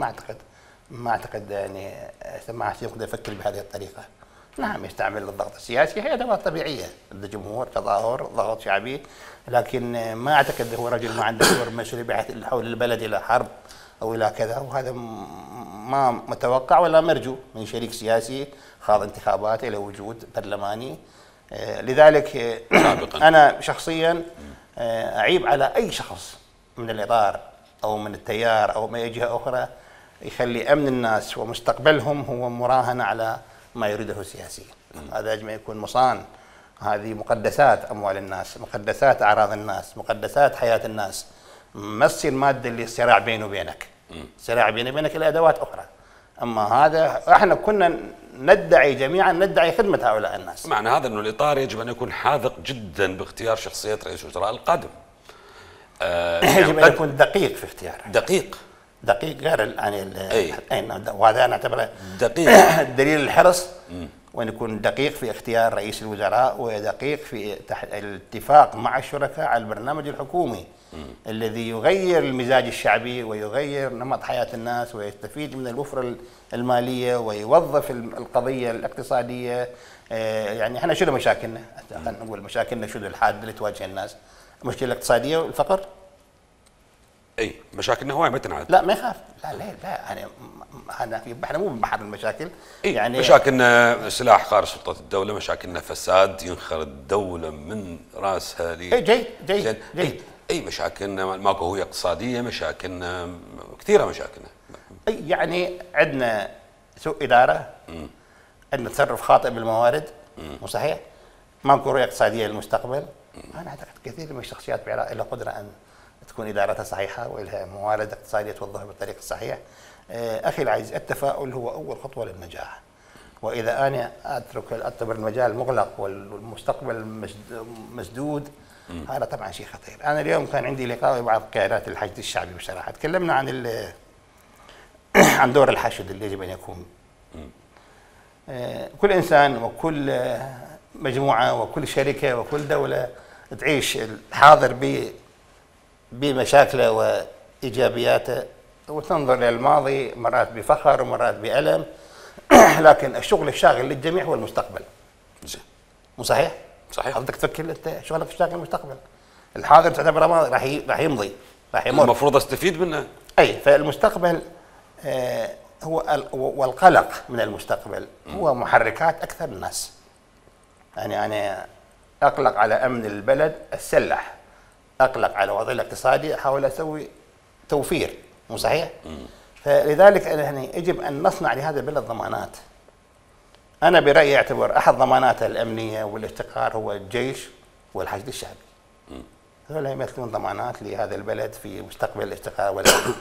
ما اعتقد يعني ما يقدر يفكر بهذه الطريقه. نعم يستعمل الضغط السياسي، هي ادوات طبيعيه ضد جمهور، تظاهر، ضغط شعبي، لكن ما اعتقد هو رجل ما عنده دور مسؤولي بحيث حول البلد الى حرب او الى كذا، وهذا ما متوقع ولا مرجو من شريك سياسي خاض انتخابات الى وجود برلماني. لذلك انا شخصيا اعيب على اي شخص من الاطار او من التيار او من اي جهه اخرى يخلي امن الناس ومستقبلهم هو مراهنه على ما يريده السياسي. هذا يجب ان يكون مصان. هذه مقدسات اموال الناس، مقدسات اعراض الناس، مقدسات حياه الناس. ما تصير ماده للصراع بيني وبينك. صراع بيني وبينك الى ادوات اخرى. اما هذا احنا كنا ندعي جميعا ندعي خدمه هؤلاء الناس. معنى هذا انه الاطار يجب ان يكون حاذق جدا باختيار شخصيه رئيس الوزراء القادم. يجب ان يكون دقيق في اختياره. دقيق غير يعني وهذا انا اعتبره دقيق دليل الحرص، وان يكون دقيق في اختيار رئيس الوزراء ودقيق في الاتفاق مع الشركاء على البرنامج الحكومي الذي يغير المزاج الشعبي ويغير نمط حياه الناس ويستفيد من الوفره الماليه ويوظف القضيه الاقتصاديه. يعني احنا شنو مشاكلنا؟ خلينا نقول مشاكلنا شنو الحاده اللي تواجه الناس؟ المشكله الاقتصاديه والفقر. اي مشاكلنا هواي ما تنعاد. لا ما يخاف، لا يعني احنا مو ببحر المشاكل. يعني مشاكلنا سلاح خارج سلطه الدوله، مشاكلنا فساد ينخر الدوله من راسها جيد. اي مشاكلنا ماكو هويه اقتصاديه، مشاكلنا كثيره مشاكلنا. يعني عندنا سوء اداره، عندنا تصرف خاطئ بالموارد، مو صحيح؟ ماكو رؤيه اقتصاديه للمستقبل. انا اعتقد كثير من الشخصيات بالعراق لها قدره ان تكون ادارتها صحيحه ولها موارد اقتصاديه توظفها بالطريق الصحيح. اخي العزيز، التفاؤل هو اول خطوه للنجاح، واذا انا اعتبر المجال مغلق والمستقبل مسدود هذا طبعا شيء خطير. انا اليوم كان عندي لقاء مع قيادات الحشد الشعبي بصراحه، تكلمنا عن دور الحشد اللي يجب ان يكون. كل انسان وكل مجموعه وكل شركه وكل دوله تعيش الحاضر بمشاكله وايجابياته وتنظر الى الماضي مرات بفخر ومرات بألم، لكن الشغل الشاغل للجميع هو المستقبل. مو صحيح؟ صحيح. حضرتك تفكر انت شغلك الشاغل المستقبل. الحاضر تعتبره ماضي راح يمضي، راح يمر. المفروض استفيد منه. اي فالمستقبل هو والقلق من المستقبل هو محركات اكثر الناس. يعني انا اقلق على امن البلد السلح، اقلق على وضعه الاقتصادي، احاول اسوي توفير، مو صحيح؟ فلذلك يعني يجب ان نصنع لهذا البلد ضمانات. انا برايي اعتبر احد ضماناته الامنيه والاستقرار هو الجيش والحشد الشعبي. هذول يمثلون ضمانات لهذا البلد في مستقبل الاستقرار والامن.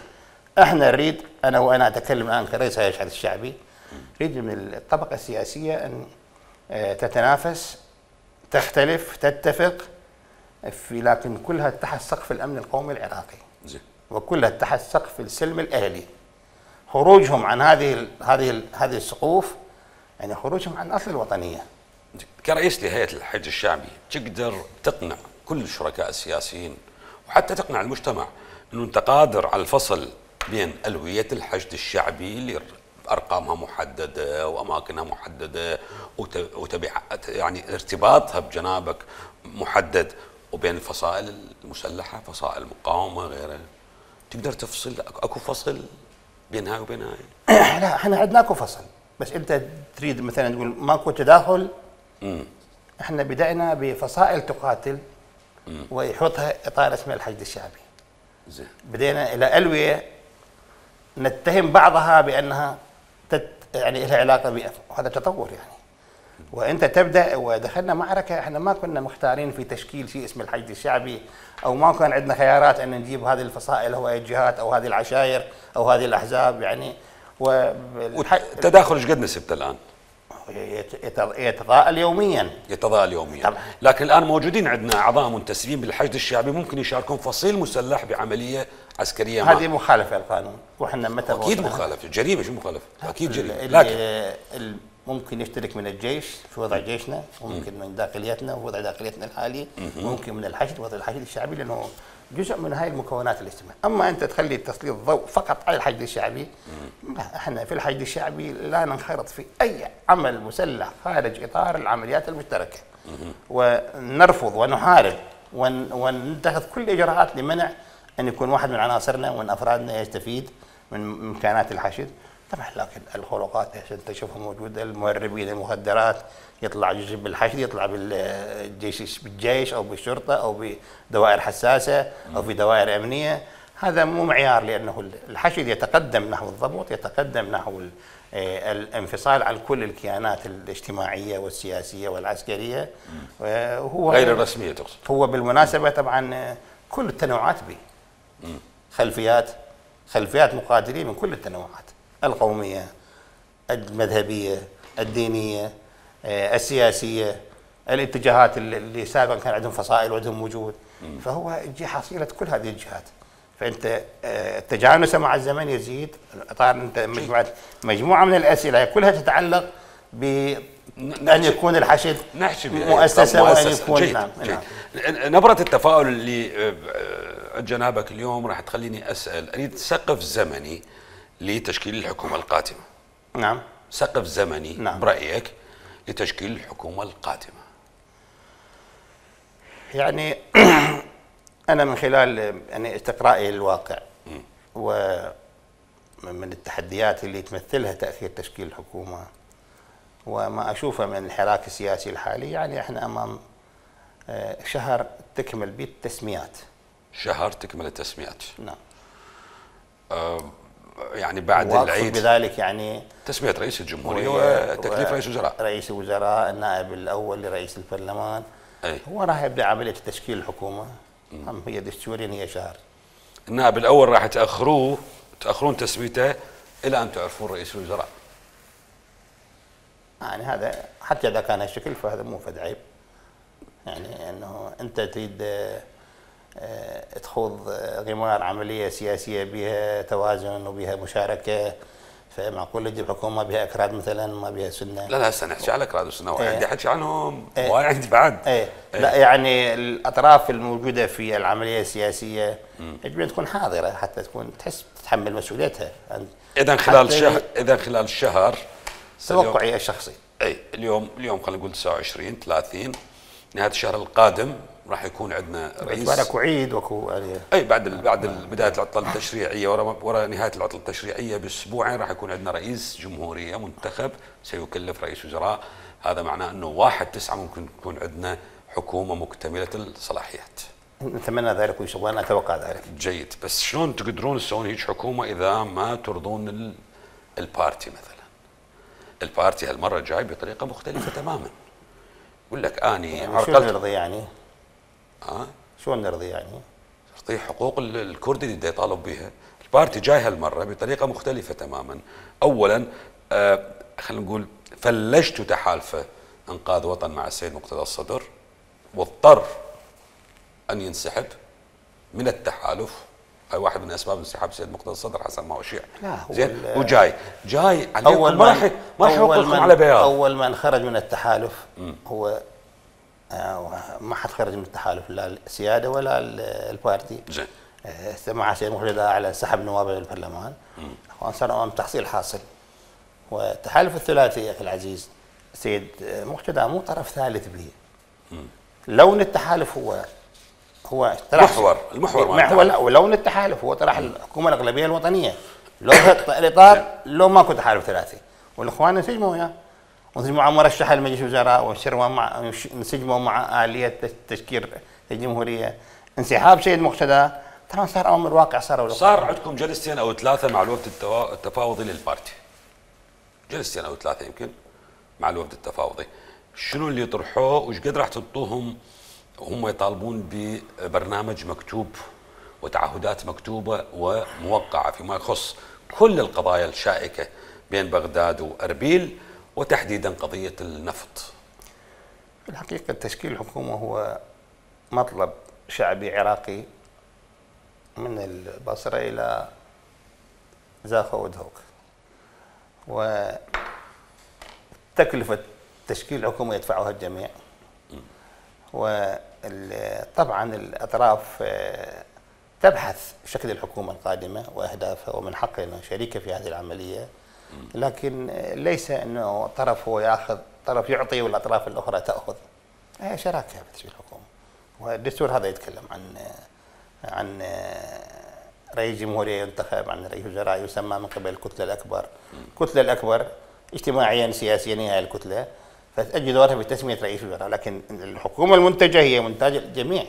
احنا نريد، انا اتكلم الان كرئيس هيئه الحشد الشعبي، نريد من الطبقه السياسيه ان تتنافس، تختلف، تتفق، لكن كلها تحت سقف الامن القومي العراقي. وكلها تحت سقف السلم الاهلي. خروجهم عن هذه السقوف يعني خروجهم عن اصل الوطنيه. كرئيس لهيئه الحشد الشعبي تقدر تقنع كل الشركاء السياسيين وحتى تقنع المجتمع انه انت قادر على الفصل بين الويه الحشد الشعبي اللي ارقامها محدده واماكنها محدده وتبعات يعني ارتباطها بجنابك محدد، وبين الفصائل المسلحه، فصائل المقاومه غيرها. تقدر تفصل؟ اكو فصل بين هاي وبين هاي؟ لا احنا عندنا اكو فصل، بس انت تريد مثلا تقول ماكو تداخل. احنا بدأنا بفصائل تقاتل ويحطها اطار اسمه الحشد الشعبي. بدينا الى الويه نتهم بعضها بانها يعني لها علاقه وهذا تطور يعني. وانت تبدا ودخلنا معركه احنا ما كنا مختارين في تشكيل شيء اسمه الحشد الشعبي، او ما كان عندنا خيارات ان نجيب هذه الفصائل او هذه الجهات او هذه العشائر او هذه الاحزاب يعني. والتداخل ايش قد نسبته الان؟ يتضاءل يوميا. طبعا. لكن الان موجودين عندنا اعضاء منتسبين بالحشد الشعبي ممكن يشاركون فصيل مسلح بعمليه عسكريه. هذه مخالفه للقانون، واحنا متى اكيد مخالفه، جريمه. شو مخالفه؟ اكيد جريمه. لكن ممكن يشترك من الجيش في وضع جيشنا، ممكن من داخليتنا ووضع داخليتنا الحالي، ممكن من الحشد وضع الحشد الشعبي، لانه جزء من هاي المكونات الاجتماعية. أما أنت تخلي تسليط الضوء فقط على الحشد الشعبي، لا، احنا في الحشد الشعبي لا ننخرط في أي عمل مسلح خارج إطار العمليات المشتركة، ونرفض ونحارب ونتخذ كل الإجراءات لمنع أن يكون واحد من عناصرنا ومن أفرادنا يستفيد من إمكانات الحشد. طبعا لكن الخلقات عشان تشوفها موجودة، المهربين المخدرات يطلع جزء بالحشد، يطلع بالجيش أو بالشرطة أو بدوائر حساسة أو في دوائر أمنية. هذا مو معيار، لأنه الحشد يتقدم نحو الضبط، يتقدم نحو الانفصال عن كل الكيانات الاجتماعية والسياسية والعسكرية. وهو غير الرسمية تقصد؟ هو بالمناسبة طبعا كل التنوعات به، خلفيات مقاتلين من كل التنوعات، القومية، المذهبية، الدينية، السياسية، الاتجاهات اللي سابقا كان عندهم فصائل وعندهم وجود. فهو يجي حصيلة كل هذه الجهات. فأنت تجانسه مع الزمن يزيد. طبعا أنت مجموعة من الأسئلة كلها تتعلق بأن يكون الحشد مؤسسة وأن يكون جيد. نعم. نبرة التفاؤل اللي جنابك اليوم راح تخليني أسأل، أريد سقف زمني لتشكيل الحكومة القادمة. نعم. سقف زمني نعم. برأيك لتشكيل الحكومة القادمة. يعني أنا من خلال يعني استقرائي للواقع ومن التحديات اللي تمثلها تأخير تشكيل الحكومة وما أشوفه من الحراك السياسي الحالي، يعني احنا أمام شهر تكمل به التسميات. شهر تكمل التسميات. نعم. يعني بعد العيد بذلك يعني تسمية رئيس الجمهورية وتكليف رئيس الوزراء. رئيس الوزراء، النائب الأول لرئيس البرلمان. هو راح يبدأ عملية تشكيل الحكومة. هي دستوريا هي شهر. النائب الأول راح تأخرون تسميته إلى أن تعرفون رئيس الوزراء. يعني هذا حتى إذا كان هالشكل فهذا مو فد عيب. يعني أنه أنت تريد تخوض غمار عملية سياسية بها توازن وبها مشاركة، فمعقول تجيب حكومة بها أكراد مثلا ما بها سنة؟ لا هسه نحكي على أكراد وسنة، وعندي حكي عنهم وعندي بعد. لا يعني الأطراف الموجودة في العملية السياسية يجب أن تكون حاضرة حتى تكون تحس تتحمل مسؤوليتها. إذا خلال الشهر توقعي الشخصي. اليوم خلينا نقول 29/30، نهاية الشهر القادم راح يكون عندنا رئيس. اكو عيد واكو بعد بدايه العطله التشريعيه، ورا نهايه العطله التشريعيه باسبوعين راح يكون عندنا رئيس جمهوريه منتخب سيكلف رئيس وزراء. هذا معناه انه 1/9 ممكن تكون عندنا حكومه مكتمله الصلاحيات. نتمنى ذلك وان شاء الله، انا اتوقع ذلك. جيد، بس شلون تقدرون تسوون هيك حكومه اذا ما ترضون البارتي مثلا؟ البارتي هالمره جاي بطريقه مختلفه تماما. يقول لك اني يعني شلون نرضي يعني؟ شلون نرضي يعني؟ نرضي حقوق الكردي اللي يطالب بها. البارتي جاي هالمره بطريقه مختلفه تماما. اولا خلينا نقول فلشتوا تحالفه انقاذ وطن مع السيد مقتدى الصدر، واضطر ان ينسحب من التحالف. هاي واحد من اسباب انسحاب السيد مقتدى الصدر حسب ما اشيع. زين، وجاي عليكم ما راح يحطكم على بياض. اول من خرج من التحالف هو ما حد خرج من التحالف، لا السياده ولا البارتي. زين. مع سيد مقتدى على سحب نواب البرلمان، صار امام تحصيل حاصل. والتحالف الثلاثي يا اخي العزيز، سيد مقتدى مو طرف ثالث به. لون التحالف هو المحور لا، ولون التحالف هو طرح الحكومه الاغلبيه الوطنيه. لو الاطار لو ماكو تحالف ثلاثي، والاخوان انسجموا وياه، وانسجموا مع مرشح المجلس الوزراء، وانسجموا مع اليه تشكيل الجمهوريه. انسحاب سيد مقتدى طبعا صار امر واقع. صار عندكم جلستين او ثلاثه مع الوفد التفاوضي للبارتي، جلستين او ثلاثه يمكن مع الوفد التفاوضي. شنو اللي طرحوه وش قد راح تنطوهم وهم يطالبون ببرنامج مكتوب وتعهدات مكتوبه وموقعه فيما يخص كل القضايا الشائكه بين بغداد واربيل، وتحديدا قضيه النفط؟ في الحقيقه تشكيل الحكومه هو مطلب شعبي عراقي من البصره الى زاخا ودهوك، وتكلفه تشكيل الحكومه يدفعها الجميع. وطبعا الاطراف تبحث شكل الحكومة القادمة وأهدافها، ومن حقها أنه شريكة في هذه العملية، لكن ليس أنه طرف هو يأخذ، طرف يعطي والأطراف الأخرى تأخذ. هي شراكة في تشكيل الحكومة. والدستور هذا يتكلم عن رئيس جمهورية ينتخب، عن رئيس وزراء يسمى من قبل الكتلة الأكبر. الكتلة الأكبر اجتماعيا سياسيا هي الكتلة، فتأجي دورها في تسمية رئيس وزراء، لكن الحكومة المنتجة هي منتاج الجميع.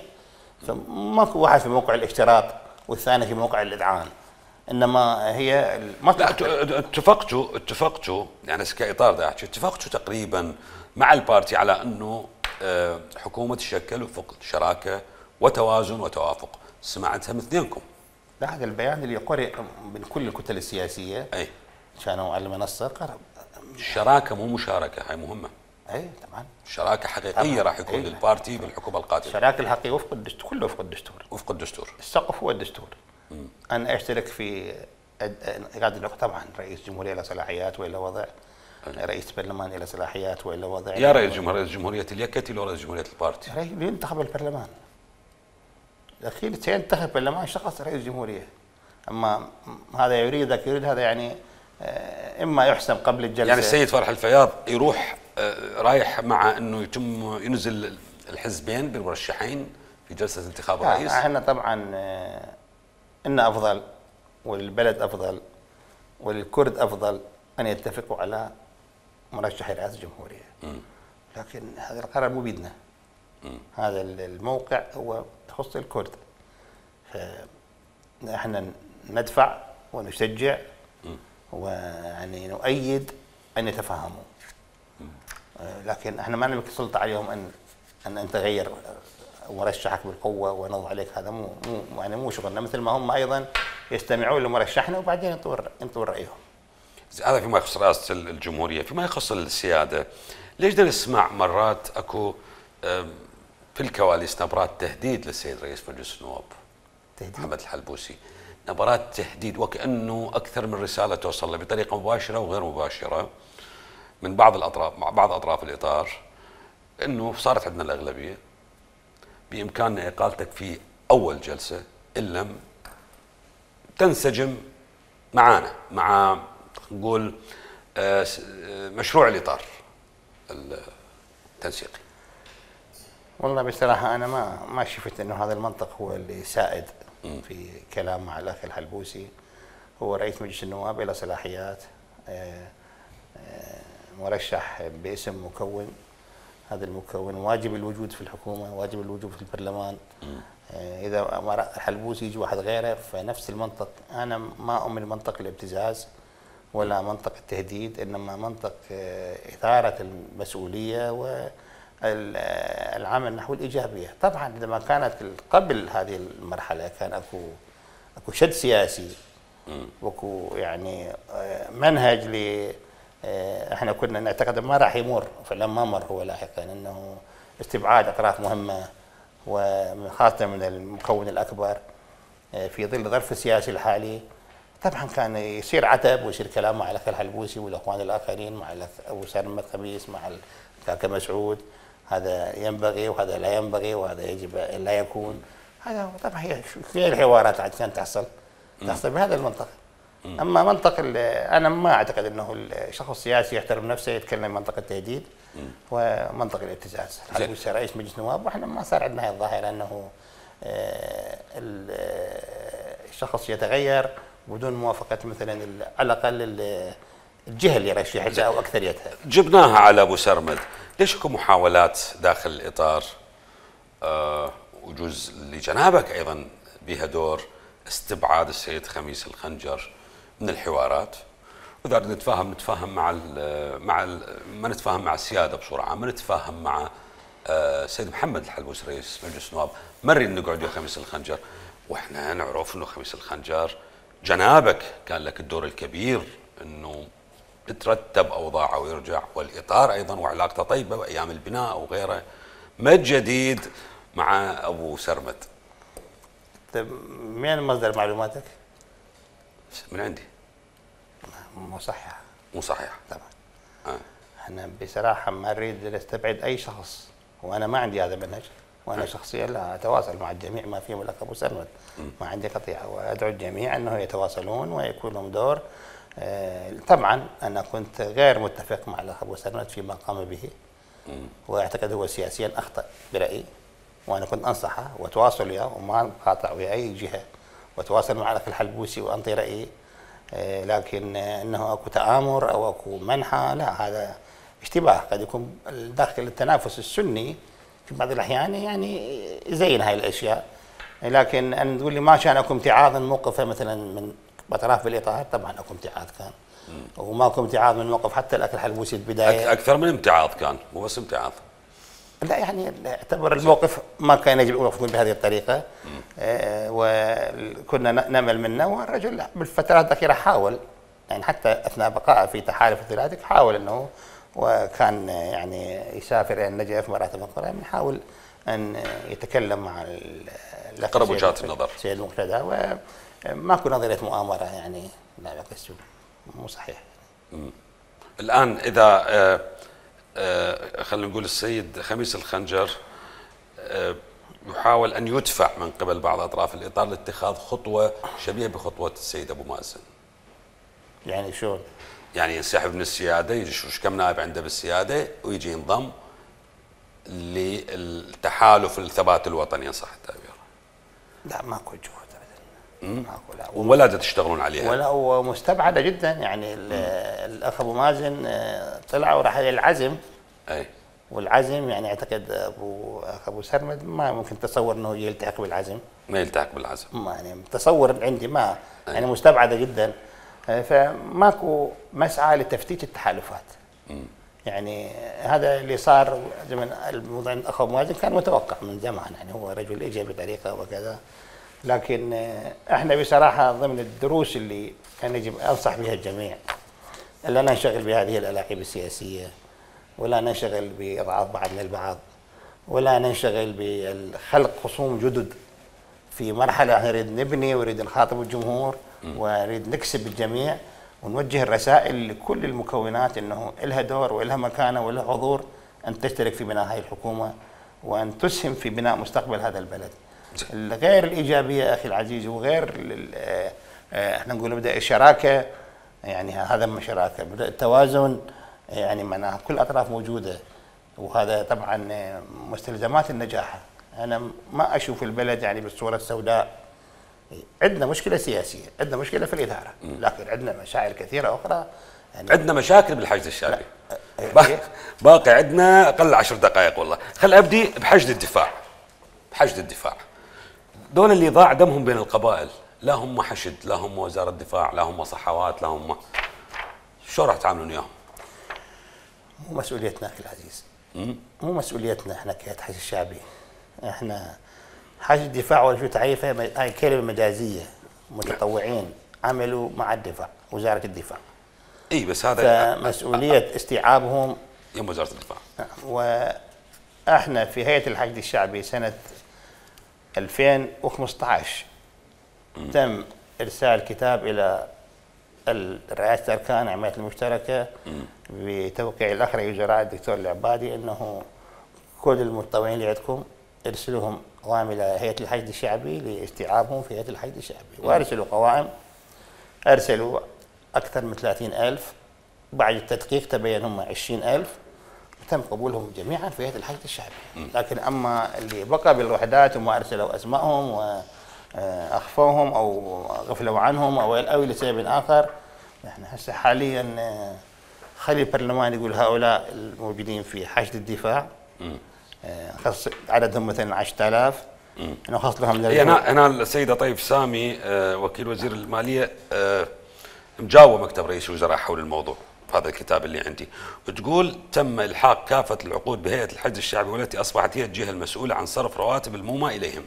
فماكو واحد في موقع الاشتراط والثاني في موقع الإذعان، إنما هي اتفقتوا يعني كإطار دا أحكي، اتفقتوا تقريبا مع البارتي على أنه حكومة تشكل وفق شراكة وتوازن وتوافق. سمعتها من اثنينكم. لا، هذا البيان اللي قرئ من كل الكتل السياسية أي كانوا على المنصة قرأ. الشراكة مو مشاركة، هاي مهمة. اي طبعا شراكة حقيقية راح يكون للبارتي بالحكومة القادمة. الشراكة الحقيقية وفق الدستور، كله وفق الدستور. وفق الدستور. السقف هو الدستور. أنا أشترك في طبعا رئيس جمهورية له صلاحيات وإلا وضع، رئيس برلمان له صلاحيات وإلا وضع. يا رئيس جمهورية اليكتي لو رئيس جمهورية البارتي؟ ينتخب البرلمان. الأخير سينتخب برلمان شخص رئيس جمهورية. أما هذا يريد ذاك يريد هذا، يعني إما يحسم قبل الجلسة. يعني السيد فالح الفياض يروح رايح مع انه يتم ينزل الحزبين بالمرشحين في جلسه انتخاب الرئيس. احنا طبعا ان افضل وللبلد افضل وللكرد افضل ان يتفقوا على مرشح رئاسه الجمهوريه. لكن هذا القرار مو بيدنا. هذا الموقع هو يخص الكرد. فاحنا ندفع ونشجع ويعني نؤيد ان يتفاهموا. لكن احنا ما نملك سلطه عليهم ان نتغير مرشحك بالقوه ونضع عليك. هذا مو شغلنا، مثل ما هم ايضا يستمعون لمرشحنا وبعدين ينطون رايهم. هذا فيما يخص رئاسه الجمهوريه. فيما يخص السياده، ليش بدنا نسمع مرات اكو في الكواليس نبرات تهديد للسيد رئيس مجلس النواب محمد الحلبوسي، نبرات تهديد وكانه اكثر من رساله توصل له بطريقه مباشره وغير مباشره من بعض الاطراف، مع بعض اطراف الاطار، انه صارت عندنا الاغلبيه، بامكاننا اقالتك في اول جلسه ان لم تنسجم معنا مع نقول مشروع الاطار التنسيقي. والله بصراحه انا ما شفت انه هذا المنطق هو اللي سائد في كلام مع الاخ الحلبوسي. هو رئيس مجلس النواب له صلاحيات، مرشح باسم مكون، هذا المكون واجب الوجود في الحكومه، واجب الوجود في البرلمان. اذا الحلبوسي يجي واحد غيره فنفس المنطق. انا ما اؤمن منطق الابتزاز ولا منطق التهديد، انما منطق اثاره المسؤوليه والعمل نحو الايجابيه. طبعا اذا ما كانت قبل هذه المرحله كان اكو شد سياسي واكو يعني منهج احنا كنا نعتقد ما راح يمر، فلما مر هو لاحقا انه استبعاد اطراف مهمه وخاصه من المكون الاكبر في ظل الظرف السياسي الحالي. طبعا كان يصير عتب ويصير كلام مع الاخ الحلبوسي والاخوان الاخرين، مع الاخ ابو سلمى خميس، مع الكاكا مسعود، هذا ينبغي وهذا لا ينبغي وهذا يجب لا يكون. هذا طبعا هي الحوارات عشان تحصل بهذا المنطق. اما منطق انا ما اعتقد انه الشخص السياسي يحترم نفسه يتكلم منطق التهديد ومنطق الابتزاز. الحلبوسي رئيس مجلس نواب واحنا ما صار عندنا هذه الظاهره انه الشخص يتغير بدون موافقه مثلا على الاقل الجهه اللي يرشحها او اكثريتها. جبناها على ابو سرمد، ليش اكو محاولات داخل الاطار وجوز لجنابك ايضا بها دور استبعاد السيد خميس الخنجر من الحوارات؟ واذا نتفاهم ما نتفاهم مع السياده بصوره عامه، نتفاهم مع السيد محمد الحلبوسي رئيس مجلس النواب، ما نريد نقعد ويا خميس الخنجر. واحنا نعرف انه خميس الخنجر جنابك كان لك الدور الكبير انه ترتب اوضاعه ويرجع، والاطار ايضا وعلاقته طيبه وايام البناء وغيره. ما الجديد مع ابو سرمد؟ من مصدر معلوماتك؟ من عندي. مو صحيحه. مو صحيحه طبعا. احنا بصراحه ما نريد نستبعد اي شخص، وانا ما عندي هذا المنهج وانا شخصيا لا اتواصل مع الجميع ما فيهم الاخ ابو سرمد، ما عندي قطيعه، وادعو الجميع انه يتواصلون ويكون لهم دور. طبعا انا كنت غير متفق مع الاخ ابو سرمد فيما قام به، واعتقد هو سياسيا اخطا برايي، وانا كنت انصحه واتواصل وياه وما قاطع ويا اي جهه، واتواصل مع الاخ الحلبوسي وانطي رايي. لكن انه اكو تآمر او اكو منحى، لا، هذا اشتباه قد يكون داخل التنافس السني في بعض الاحيان يعني يزين هاي الاشياء. لكن ان تقول لي ما كان اكو امتعاض من موقفه مثلا من اطراف بالاطار، طبعا اكو امتعاض كان، وماكو امتعاض من موقف حتى الاخ الحلبوسي البدايه اكثر من امتعاض كان، مو بس امتعاض. لا يعني اعتبر الموقف ما كان يجب ان يكون بهذه الطريقه. وكنا نامل منه، والرجل بالفترات الاخيره حاول، يعني حتى اثناء بقائه في تحالف الثلاثي حاول انه، وكان يعني يسافر الى النجف مرات اخرى، يحاول ان يتكلم مع اقرب وجهات النظر سيد مقتدى، وماكو نظريه مؤامره يعني، لا بس مو صحيح. الان اذا خلينا نقول السيد خميس الخنجر يحاول ان يدفع من قبل بعض اطراف الاطار لاتخاذ خطوه شبيهه بخطوه السيد ابو مازن. يعني شلون؟ يعني ينسحب من السياده، يجي شوف كم نائب عنده بالسياده ويجي ينضم للتحالف الثبات الوطني، ان صح التعبير. لا ماكو جهود ابدا، ماكو، لا، ولا تشتغلون عليها، ولا، ومستبعده جدا يعني. الاخ ابو مازن طلع وراح العزم، اي، والعزم يعني اعتقد ابو سرمد ما ممكن تصور انه يلتحق بالعزم، ما يلتحق بالعزم، ما يعني تصور عندي ما يعني مستبعده جدا. فماكو مسعى لتفتيت التحالفات. يعني هذا اللي صار زمن الموضوع الاخ ابو مازن كان متوقع من زمان، يعني هو رجل اجى بطريقه وكذا. لكن احنا بصراحه ضمن الدروس اللي كان يجب انصح بها الجميع، لا ننشغل بهذه الالاعيب السياسيه، ولا ننشغل باضعاف بعضنا البعض، ولا ننشغل بخلق خصوم جدد في مرحله نريد نبني ونريد نخاطب الجمهور ونريد نكسب الجميع، ونوجه الرسائل لكل المكونات انه لها دور ولها مكانه ولها حضور ان تشترك في بناء هذه الحكومه، وان تسهم في بناء مستقبل هذا البلد. غير الايجابيه اخي العزيز، وغير احنا نقول نبدا الشراكه، يعني هذا ما شراكه، بدا التوازن، يعني معناها كل الاطراف موجوده، وهذا طبعا مستلزمات النجاح. انا ما اشوف البلد يعني بالصوره السوداء. عندنا مشكله سياسيه، عندنا مشكله في الاداره، لكن عندنا مشاعر كثيره اخرى. يعني عندنا مشاكل بالحشد الشعبي. باقي عندنا اقل 10 دقائق والله. خل ابدي بحشد الدفاع. بحشد الدفاع. دول اللي ضاع دمهم بين القبائل، لا هم حشد، لا هم وزاره دفاع، لا هم صحوات، لا هم، شو راح تعاملون وياهم؟ مو مسؤوليتنا اخي العزيز. مو مسؤوليتنا احنا كهيئه حشد الشعبي. احنا حشد الدفاع ولا شو تعريفها، هاي كلمه مجازيه، متطوعين عملوا مع الدفاع، وزاره الدفاع. اي بس هذا فمسؤوليه استيعابهم يم وزاره الدفاع. واحنا في هيئه الحشد الشعبي سنه 2015 تم ارسال كتاب الى رئاسه الاركان العمليات المشتركه بتوقيع الاخ رئيس الوزراء الدكتور العبادي انه كل المتطوعين اللي عندكم ارسلوهم قوائم الى هيئه الحشد الشعبي لاستيعابهم في هيئه الحشد الشعبي، وارسلوا قوائم، ارسلوا اكثر من 30,000. بعد التدقيق تبين هم 20,000، تم قبولهم جميعا في هيئه الحشد الشعبي. لكن اما اللي بقى بالوحدات وما ارسلوا اسمائهم واخفوهم او غفلوا عنهم او لسبب اخر، احنا هسه حاليا خلي البرلمان يقول هؤلاء الموجودين في حشد الدفاع خص عددهم مثلا 10,000 نخص لهم. انا السيده طيب سامي وكيل وزير الماليه مجاوب مكتب رئيس الوزراء حول الموضوع في هذا الكتاب اللي عندي، وتقول تم الحاق كافه العقود بهيئه الحشد الشعبي والتي اصبحت هي الجهه المسؤوله عن صرف رواتب المومى اليهم.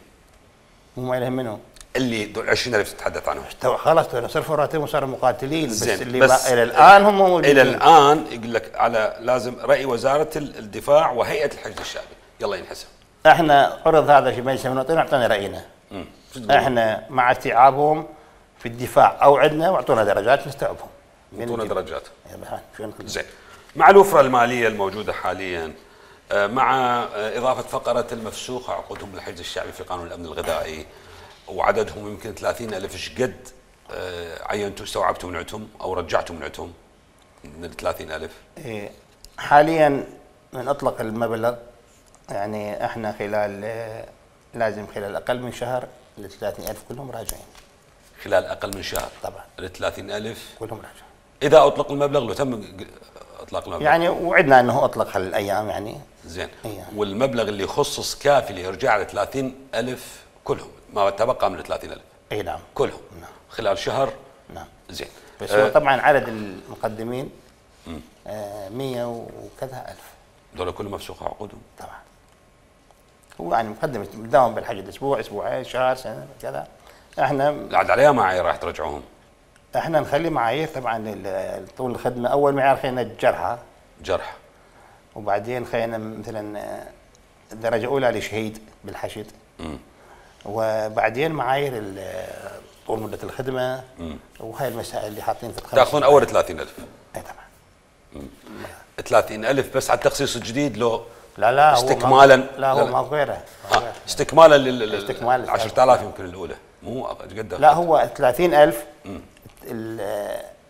مومى اليهم منو؟ اللي دول 20,000 تتحدث عنهم. خلاص صرفوا رواتبهم وصاروا مقاتلين، بس اللي الى الان هم موجودين. الى الان يقول لك على لازم راي وزاره الدفاع وهيئه الحشد الشعبي، يلا ينحسب. احنا عرض هذا في مجلس المناطق واعطينا راينا. احنا مع استيعابهم في الدفاع او عندنا، واعطونا درجات نستوعبهم. اعطونا درجات. زين. مع الوفره الماليه الموجوده حاليا مع إضافة فقرة المفسوخ عقودهم بالحشد الشعبي في قانون الأمن الغذائي، وعددهم يمكن 30,000. ايش قد عينتوا استوعبتوا من عندهم أو رجعتوا من عندهم من ال 30,000؟ حاليا من أطلق المبلغ يعني احنا لازم خلال أقل من شهر ال 30,000 كلهم راجعين. خلال أقل من شهر طبعا ال 30,000 كلهم راجعين. إذا أطلق المبلغ، لو تم إطلاق المبلغ يعني وعدنا أنه أطلق هالأيام يعني. زين. يعني. والمبلغ اللي يخصص كافي ليرجع ل 30,000 كلهم، ما تبقى من 30,000؟ اي نعم كلهم. نعم. خلال شهر. نعم. زين. بس هو طبعا عدد المقدمين 100 وكذا ألف. دول كلهم مفسوخ عقودهم؟ طبعا. هو يعني مقدم داوم بالحشد اسبوع اسبوعين شهر سنه كذا. احنا بعد عليها معايير راح ترجعوهم؟ احنا نخلي معايير طبعا طول الخدمه. اول معيار خلينا الجرحى. جرح. وبعدين خلينا مثلا درجه اولى لشهيد بالحشد. وبعدين معايير طول مده الخدمه. وهي المسائل اللي حاطين في الخمس. تاخذون اول 30,000؟ اي طبعا. 30,000 بس على التخصيص الجديد لو لا استكمالا؟ لا هو ما غيره. استكمالا لل 10,000 يمكن الاولى، مو قد؟ لا هو 30,000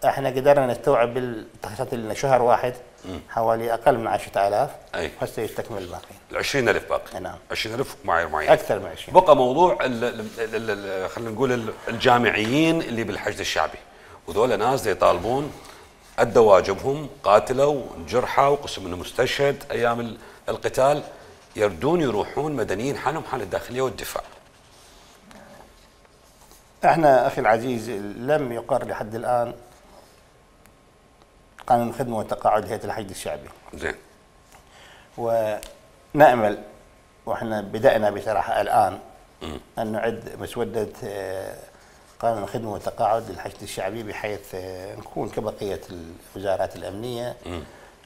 احنا قدرنا نستوعب بالتخصيصات اللي شهر واحد حوالي اقل من 10,000. اي هسه يستكمل الباقي. ال 20,000 باقي. نعم. 20,000 معايير معينه اكثر من 20. بقى موضوع خلينا نقول الجامعيين اللي بالحشد الشعبي، وذول ناس يطالبون ادوا واجبهم، قاتلوا جرحى وقسم منهم مستشهد ايام القتال، يردون يروحون مدنيين حالهم حال الداخليه والدفاع. احنا اخي العزيز لم يقر لحد الان قانون الخدمه والتقاعد هيئه الحشد الشعبي. زين. ونامل واحنا بدانا بصراحه الان ان نعد مسوده قانون الخدمه والتقاعد للحشد الشعبي بحيث نكون كبقيه الوزارات الامنيه.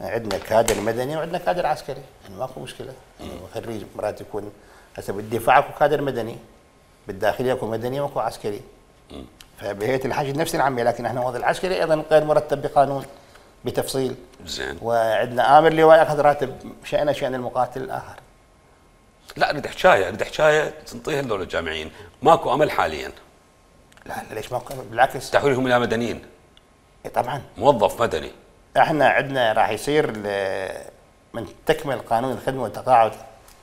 عندنا كادر مدني وعندنا كادر عسكري، يعني ماكو مشكله. يعني خريج مرات يكون هسه بالدفاع اكو كادر مدني، بالداخليه اكو مدني واكو عسكري. فبهيئه الحشد نفس العمليه، لكن احنا وضع العسكري ايضا غير مرتب بقانون بتفصيل. زين. وعندنا امر لواء ياخذ راتب شانه شان المقاتل الاخر. لا اريد حكايه تنطيها لدول الجامعيين، ماكو امل حاليا؟ لا ليش ماكو امل؟ بالعكس تحويلهم الى مدنيين. طبعا موظف مدني. احنا عندنا راح يصير من تكمل قانون الخدمه والتقاعد.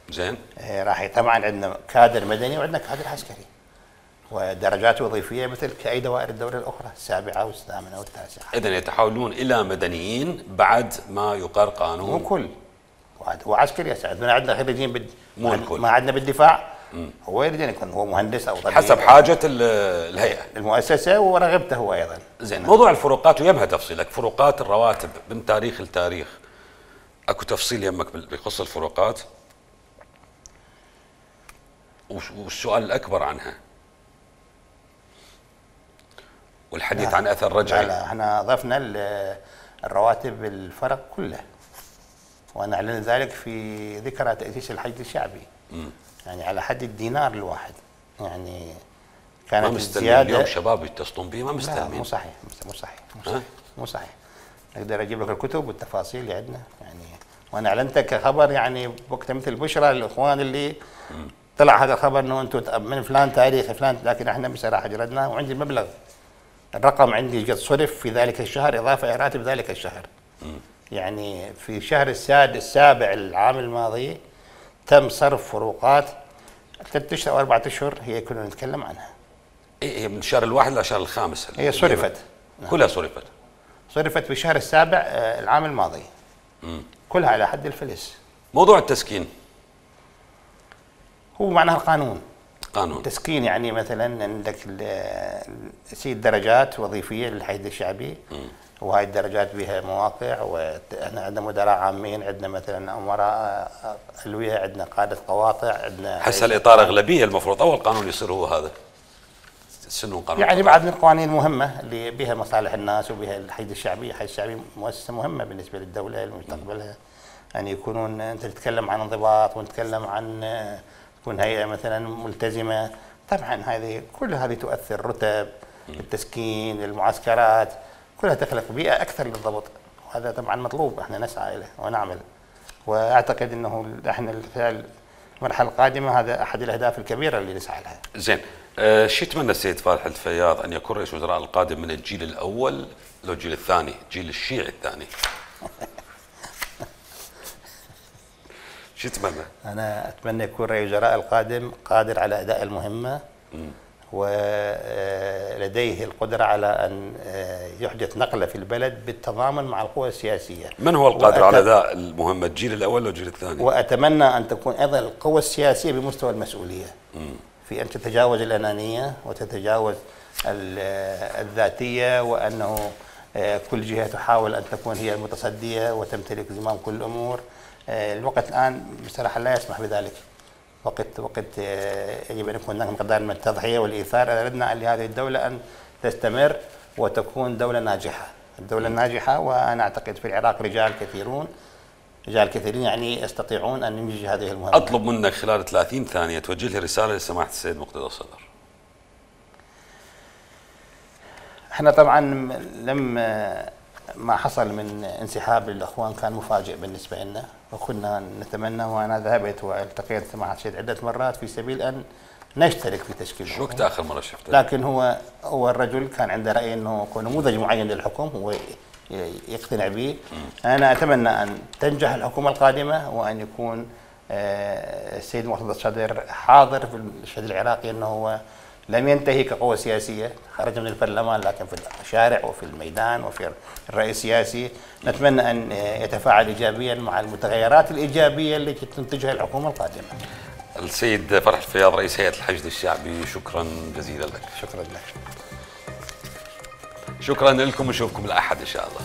زين. راح طبعا عندنا كادر مدني وعندنا كادر عسكري ودرجات وظيفيه مثل كاي دوائر الدوله الاخرى، السابعه والثامنه والتاسعه. اذا يتحولون الى مدنيين بعد ما يقر قانون. مو كل وعسكري يساعدنا. عندنا خريجين مو الكل. ما عندنا بالدفاع. هو يريد ان يكون هو مهندس او طبيب حسب حاجه الهيئه المؤسسه ورغبته هو ايضا. زين. موضوع الفروقات ويمها تفصيلك، فروقات الرواتب من تاريخ لتاريخ، اكو تفصيل يمك بخص الفروقات؟ والسؤال الاكبر عنها والحديث عن اثر رجعي. لا احنا اضفنا الرواتب الفرق كله، ونعلن ذلك في ذكرى تاسيس الحشد الشعبي. يعني على حد الدينار الواحد. يعني كانت ما مستلمين اليوم شباب يتصلون به؟ ما مستلمين. مو صحيح. مو صحيح. اقدر اجيب لك الكتب والتفاصيل اللي عندنا يعني، وانا اعلنتها كخبر يعني وقتها مثل بشرى للاخوان اللي طلع هذا الخبر انه انتم من فلان تاريخ فلان، لكن احنا بصراحه جردناه وعندي المبلغ، الرقم عندي قد صرف في ذلك الشهر اضافه الى راتب ذلك الشهر. يعني في شهر السابع العام الماضي تم صرف فروقات 3 اشهر او 4 اشهر هي كنا نتكلم عنها. هي من الشهر الواحد للشهر الخامس هي صرفت. كلها صرفت. صرفت في الشهر السابع العام الماضي. كلها على حد الفلس. موضوع التسكين هو معناها القانون. قانون تسكين يعني مثلا عندك سيد درجات وظيفيه للحشد الشعبي، وهاي الدرجات بها مواقع، واحنا عندنا مدراء عامين، عندنا مثلا امراء الويه، عندنا قاده قواطع، عندنا هسه الاطار اغلبيه المفروض اول قانون يصير هو هذا سنون قانون يعني بعد من القوانين المهمه اللي بها مصالح الناس وبها الحشد الشعبي. الحشد الشعبي مؤسسه مهمه بالنسبه للدوله لمستقبلها، يعني يكونون انت تتكلم عن انضباط ونتكلم عن تكون هيئه مثلا ملتزمه. طبعا هذه كل هذه تؤثر، رتب، التسكين، المعسكرات، كلها تخلق بيئه اكثر للضبط، وهذا طبعا مطلوب احنا نسعى اليه ونعمل. واعتقد انه احنا خلال المرحله القادمه هذا احد الاهداف الكبيره اللي نسعى لها. زين، شو يتمنى السيد فالح الفياض ان يكون رئيس وزراء القادم من الجيل الاول لو الجيل الثاني، جيل الشيعي الثاني؟ شو يتمنى؟ انا اتمنى يكون رئيس الوزراء القادم قادر على اداء المهمه ولديه القدره على ان يحدث نقله في البلد بالتضامن مع القوى السياسيه. من هو القادر على اداء المهمه، الجيل الاول او الجيل الثاني؟ واتمنى ان تكون ايضا القوى السياسيه بمستوى المسؤوليه في ان تتجاوز الانانيه وتتجاوز الذاتيه، وانه كل جهه تحاول ان تكون هي المتصديه وتمتلك زمام كل الامور. الوقت الان بصراحه لا يسمح بذلك. وقت يجب ان يكون هناك مقدار من التضحيه والايثار. اردنا لهذه الدوله ان تستمر وتكون دوله ناجحه، الدوله الناجحه. وانا اعتقد في العراق رجال كثيرين يعني يستطيعون ان ينجزوا هذه المهمه. اطلب منك خلال 30 ثانيه توجه لي رساله لسماحه السيد مقتدى الصدر. احنا طبعا ما حصل من انسحاب الاخوان كان مفاجئ بالنسبه لنا، وكنا نتمنى، وانا ذهبت والتقيت سماحه السيد عده مرات في سبيل ان نشترك في تشكيل شو وقت اخر مره شفته؟ لكن هو الرجل كان عنده راي انه يكون نموذج معين للحكم هو يقتنع به. انا اتمنى ان تنجح الحكومه القادمه وان يكون السيد مرتضى الصدر حاضر في المشهد العراقي، انه هو لم ينتهي كقوة سياسية، خرج من البرلمان لكن في الشارع وفي الميدان وفي الرأي السياسي. نتمنى أن يتفاعل إيجابيا مع المتغيرات الإيجابية التي تنتجها الحكومة القادمة. السيد فرح الفياض رئيس هيئة الحشد الشعبي، شكرا جزيلا لك. شكرا لك. شكرا لكم، نشوفكم الأحد إن شاء الله.